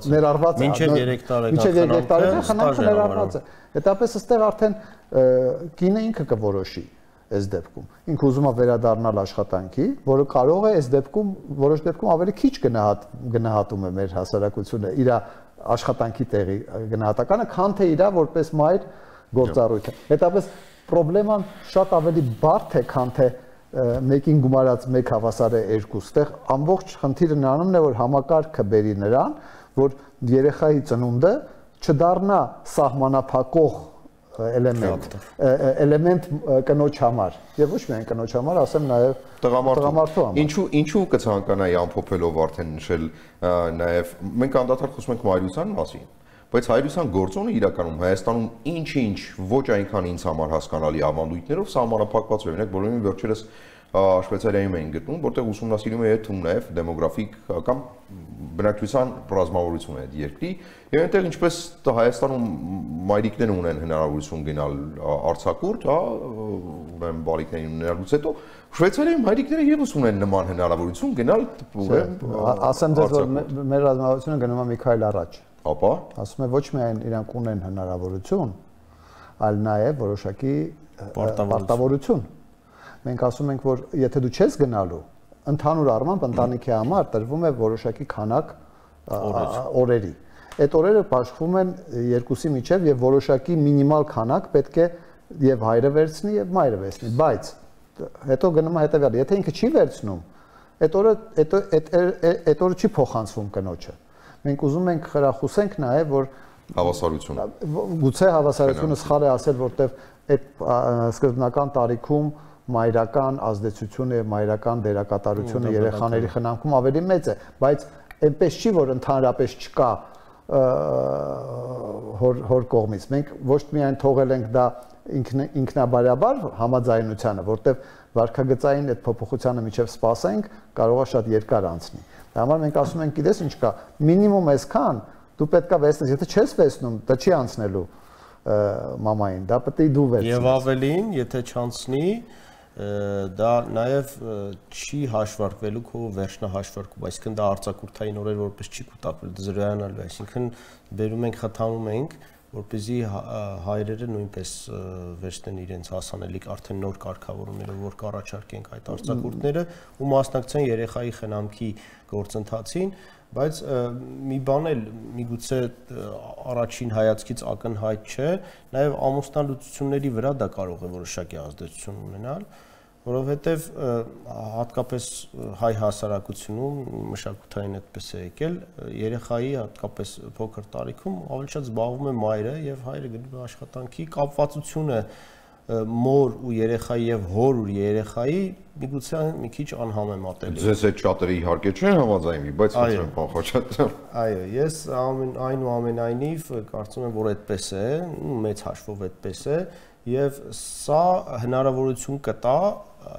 ներառված է։ Մինչև 3 տարեկան խնամքը ներառված է։ Հետապես այստեղ արդեն կինը ինքը կորոշի այս դեպքում։ Ինքը ուզում է վերադառնալ աշխատանքի, որը կարող է այս դեպքում որոշ դեպքում ավելի քիչ գնահատում է մեր հասարակությունը իր աշխատանքի տեղի գնահատականը, քան թե իր որպես մայր գործառույթը։ Հետապես պրոբլեման շատ ավելի բարդ է, քան թե մեկին գումարած մեկ հավասար է 2։ Այստեղ ամբողջ խնդիրը նրանումն է, որ համակարգը բերի նրան, որ երեխայի ծնունդը չդառնա սահմանափակող էլեմենտ կնոջ համար եւ ոչ միայն կնոջ համար, ասեմ նաեւ տղամարդու համար։ Ինչու կցանկանայի ամփոփելով արդեն նշել նաեւ մենք անդադար խոսում ենք մայրության մասին, բայց հայրության գործոնը իրականում Հայաստանում ինչ-ինչ ոչ այնքան ինձ համար հասկանալի ավանդույթներով սահմանափակված է։ Օրինակ բոլորին վերջերս Շվեյցարիայում էին գտնում, որտեղ ուսումնասիրում է թվում նաև դեմոգրաֆիկ կամ բնակչության ռազմավարությունը այդ երկրի, եւ այնտեղ ինչպես Հայաստանում մայրիկները ունեն հնարավորություն գնալ արձակուրդ, ուրեմն բալիկներին ունենալուց հետո Շվեյցարիայում մայրիկները եւս ունեն նման հնարավորություն գնալ, ասեմ ձեզ, որ մեր ռազմավարությունը գնում է մի քայլ առաջ։ Ապա ասում է ոչ միայն իրանք ունեն հնարավորություն, այլ նաև որոշակի պարտավորություն։ Մենք ասում ենք, որ եթե դու չես գնալու, ընդհանուր առմամբ ընտանիքի համար տրվում է որոշակի քանակ օրերի։ Այդ օրերը բաշխվում են երկուսի միջև եւ որոշակի մինիմալ քանակ պետք է եւ հայրը վերցնի եւ մայրը վերցնի, բայց հետո գնում է հետեւյալը, եթե ինքը չի վերցնում, այդ օրը չի փոխանցվում կնոջը։ Մենք ուզում ենք խրախուսենք նաև, որ հավասարությունը։ Գուցե հավասարությունը սխալ է ասել, որտեղ այդ սկզբնական տարիքում մայրական ազդեցությունը եւ մայրական դերակատարությունը երեխաների խնամքում ավելի մեծ է, բայց այնպես չի, որ ընդհանրապես չկա հոր կողմից։ Մենք ոչ միայն թողել ենք դա ինքնաբարաբար համաձայնությանը, որտեղ վարքագծային այդ փոփոխությանը միջև սպասենք, կարող է շատ երկար անցնի։ Դա համար մենք ասում ենք, գիտես ինչ կա, մինիմում այսքան, Դու պետքա վեսնես, եթե չես վեսնում, դա չի անցնելու մամային, դա պետք է դու վերցնես։ Եվ ավելին, եթե չանցնի, դա նաև չի հաշվարկվելու քո վերջնահաշվարկում, այսինքն դա արձակուրդային օրեր որպես չի կուտակվել, դա զրոյանալու է, այսինքն բերում ենք խթանում ենք, որպեսզի հայրերը նույնպես վերցնեն իրենց հասանելիք արդեն նոր կարգավորումներով, որ կառաջարկենք այդ արձակուրդները ու մասնակցեն երեխայի խնամքի գործընթացին, բայց մի բան էլ միգուցե առաջին հայացքից ակնհայտ չէ, նաև ամուսնալուծությունների վրա դա կարող է որոշակի ազդեցություն ունենալ, որովհետև հատկապես հայ հասարակությունում մշակութային այդպես է եկել, երեխայի հատկապես փոքր տարիքում ավելի շատ զբաղվում է մայրը եւ հայրը գնում է աշխատանքի, կապվածությունը մոր ու երեխայի եւ հոր ու երեխայի միգուցե մի քիչ անհամեմատելի։ Ձեզ այդ շատերը իհարկե չեն համաձայնվի, բայց խնդրեմ պարոն Խաչատրյան։ Այո, ես այնուամենայնիվ կարծում եմ, որ այդպես է, մեծ հաշվով այդպես է եւ սա հնարավորություն կտա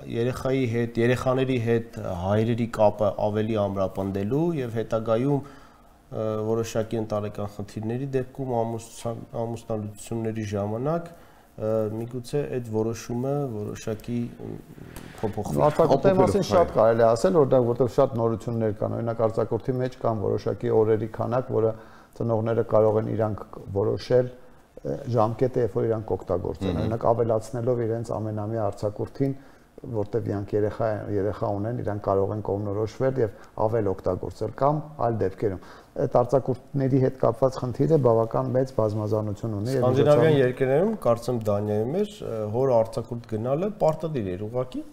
երեխաների հետ հայրերի կապը ավելի ամրապնդելու եւ հետագայում որոշակի ընտանեկան խնդիրների դեպքում ամուսնալուծությունների ժամանակ միգուցե այդ որոշումը որոշակի փոփոխվի։ Արձակուրդի մասին շատ կարելի է ասել, որտեղ շատ նորություններ կան, օրինակ արձակուրդի մեջ կան որոշակի օրերի քանակ, որը ծնողները կարող են իրանք որոշել ժամկետը, երբ որ իրանք օգտագործեն, օրինակ ավելացնելով իրենց ամենամյա արձակուրդին, որտեղ իրանք երեխա ունեն, իրանք կարող են կողմնորոշվել եւ ավել օգտագործել կամ այլ դեպքերում։ Այդ արձակուրդների հետ կապված խնդիրը բավական մեծ բազմազանություն ունի։ Սկանդինավյան երկրներում, կարծեմ Դանիայում էր, հոր արձակուրդ գնալը պարտադիր էր, ուղղակի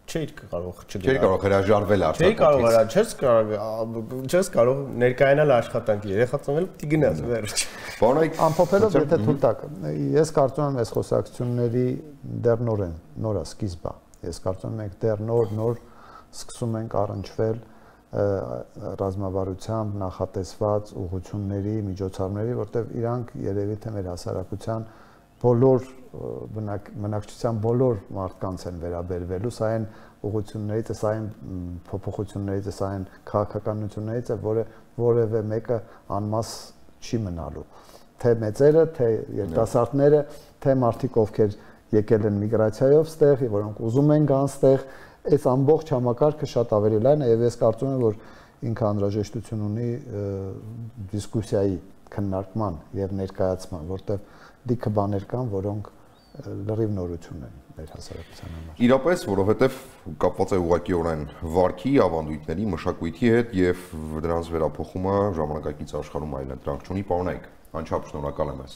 չէր կարող չգնալ։ Չէր կարող հրաժարվել արձակուրդից։ Չես կարող ներկայանալ աշխատանքի, երեխա ծնվել պիտի գնաս վերջ։ Ամփոփելով, եթե թույլ տաք, ես կարծում եմ այս խոսակցությունների դեռ նոր է, սկիզբ է։ Ես կարծում եմ մենք դեռ նոր սկսում ենք առնչվել ռազմավարությամբ նախատեսված ուղղությունների, միջոցառումների, որտեղ իրանք երևի թե մեր հասարակության բոլոր բնակչության բոլոր մարդկանց են վերաբերվելու, սա այն ուղղություններից է, սա այն փոփոխություններից է, սա այն քաղաքականություններից է, որը որևէ մեկը անմաս չի մնալու։ Թե մեծերը, թե երիտասարդները, թե մարդիկ, ովքեր եկել են միգրացիայով ստեղ, որոնք ուզում են գան ստեղ, այս ամբողջ համակարգը շատ ավելի լայն է եւ ես կարծում եմ, որ ինքը անհրաժեշտություն ունի դիսկուսիայի քննարկման եւ ներկայացման, որտեղ լիքը բաներ կան, որոնք լրիվ նորություն են մեր հասարակության համար։ Իրապես, որովհետև կապված է ուղղակիորեն վարքի, ավանդույթների, մշակույթի հետ եւ դրանց վերափոխումը ժամանակակից աշխարհում այլընտրանք չունի, պարոնայք, անչափ շնորհակալ եմ ես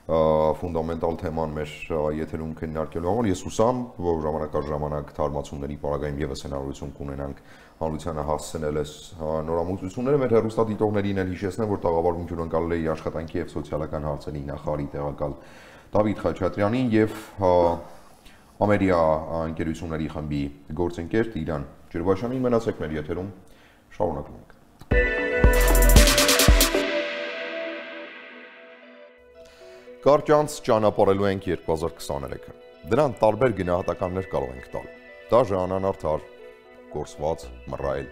ֆունդամենտալ թեման մեր եթերում քննարկելու համար։ Ես հուսամ, որ ժամանակ առ ժամանակ թարմացումների պարագայում եւս հնարավորություն կունենանք հանրությանը հասցնել այս նորամուծությունները։ Մեր հեռուստադիտողներին էլ հիշեցնեմ, որ տաղավարում հյուրընկալել էի աշխատանքի եւ սոցիալական հարցերի նախարարի տեղակալ Դավիթ Խաչատրյանին եւ Ամերիա ընկերությունների խմբի գործընկեր Տիգրան Ջրբաշյանին։ Մնացեք մեր եթերում, շարունակում ենք։ Կարճանց ճանապարհելու ենք 2023-ը։ Դրան տարբեր գնահատականներ կարող ենք տալ։ Դաժան, անարդար, կորսված, մռայլ։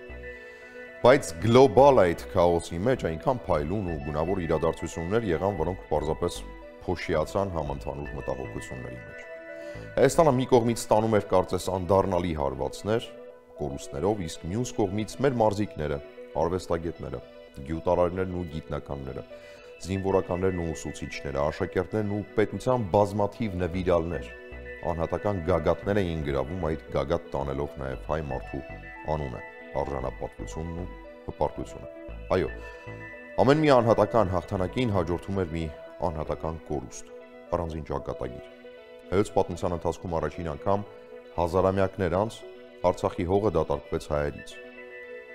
Բայց գլոբալ այդ քաոսի մեջ այնքան փայլուն ու գունավոր իրադարձություններ եղան, որոնք պարզապես փոշիացան համընդհանուր մտահոգությունների մեջ։ Հայաստանը մի կողմից ստանում էր կարծես անդառնալի հարվածներ, կորուստներով, իսկ մյուս կողմից մեր մարզիկները, արվեստագետները, գյուտարարներն ու գիտնականները, զինվորականներն ու ուսուցիչները, աշակերտներն ու պետության բազմաթիվ նվիրալներ, անհատական գագաթներ էին գրավում, այդ գագաթ տանելով նաև հայ մարդու անունը, արժանապատվությունն ու հպարտությունը։ Այո, ամեն մի անհատական հաղթանակին հաջորդում էր մի անհատական կորուստ, առանձին ճակատագիր։ Հայոց պատմության ընթացքում առաջին անգամ հազարամյակներ անց Արցախի հողը դատարկվեց հայերից։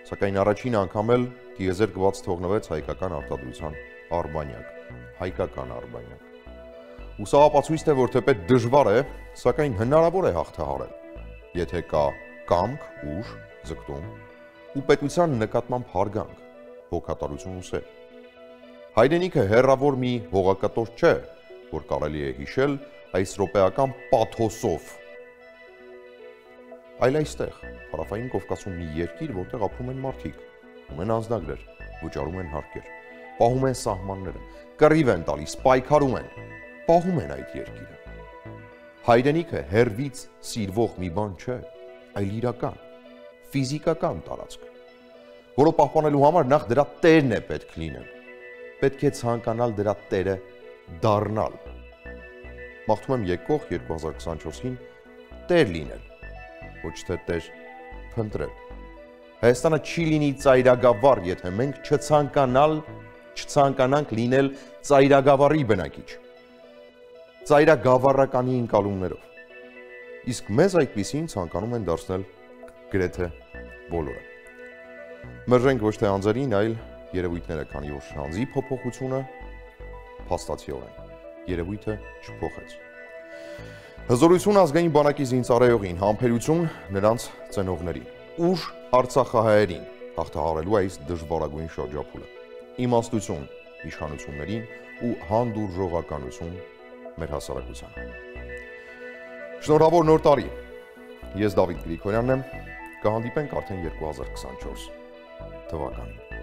Սակայն առաջին անգամ էլ տիեզերքված թողնվեց հայկական արտադրության Արբանյակ, հայկական Արբանյակ։ Ու սա ապացույց է, որ թեպետ դժվար է, սակայն հնարավոր է հաղթահարել, եթե կա կամք, ուժ, ձգտում ու պետության նկատմամբ հարգանք, հոգատարություն ու սեր։ Հայրենիքը հեռավոր մի հողակտոր չէ, որ կարելի է հիշել այս րոպեական պաթոսով, այլ այստեղ, Հարավային Կովկասում մի երկիր, որտեղ ապրում են մարդիկ, ունեն անձնագրեր, վճարում են հարկեր, պահում են սահմանները, կռիվ են տալիս, պայքարում են, պահում են այդ երկիրը։ Հայրենիքը հերվից սիրվող մի բան չէ, այլ իրական, ֆիզիկական տարածք, որը պահպանելու համար նախ դրա տերն է պետք լինել, պետք է ցանկանալ դրա տերը դառնալ։ Մաղթում եմ եկող 2024-ին տեր լինել, ոչ թե տեր փնտրել։ Հայաստանը չի լինի ծայրագավառ, եթե մենք չցանկանանք լինել ծայրագավառի բնակիչ, ծայրագավառականի ընկալումներով։ Իսկ մեզ այդպիսին ցանկանում են դարձնել գրեթե բոլորը։ Մերժենք ոչ թե անձերին, այլ երևույթները, քանի որ անձի փոփոխությունը փաստացիորեն երևույթը չփոխեց։ Հզորություն ազգային բանակի զինծառայողին, համբերություն նրանց ծնողներին, ուժ արցախահայերին հաղթահարելու այս դժվարագույն շրջափուլը, իմաստություն իշխանություններին ու հանդուրժողականություն մեր հասարակությանը։ Շնորհավոր նոր տարի։ Ես Դավիթ Գրիգորյանն եմ, կհանդիպենք արդեն 2024 թվականին։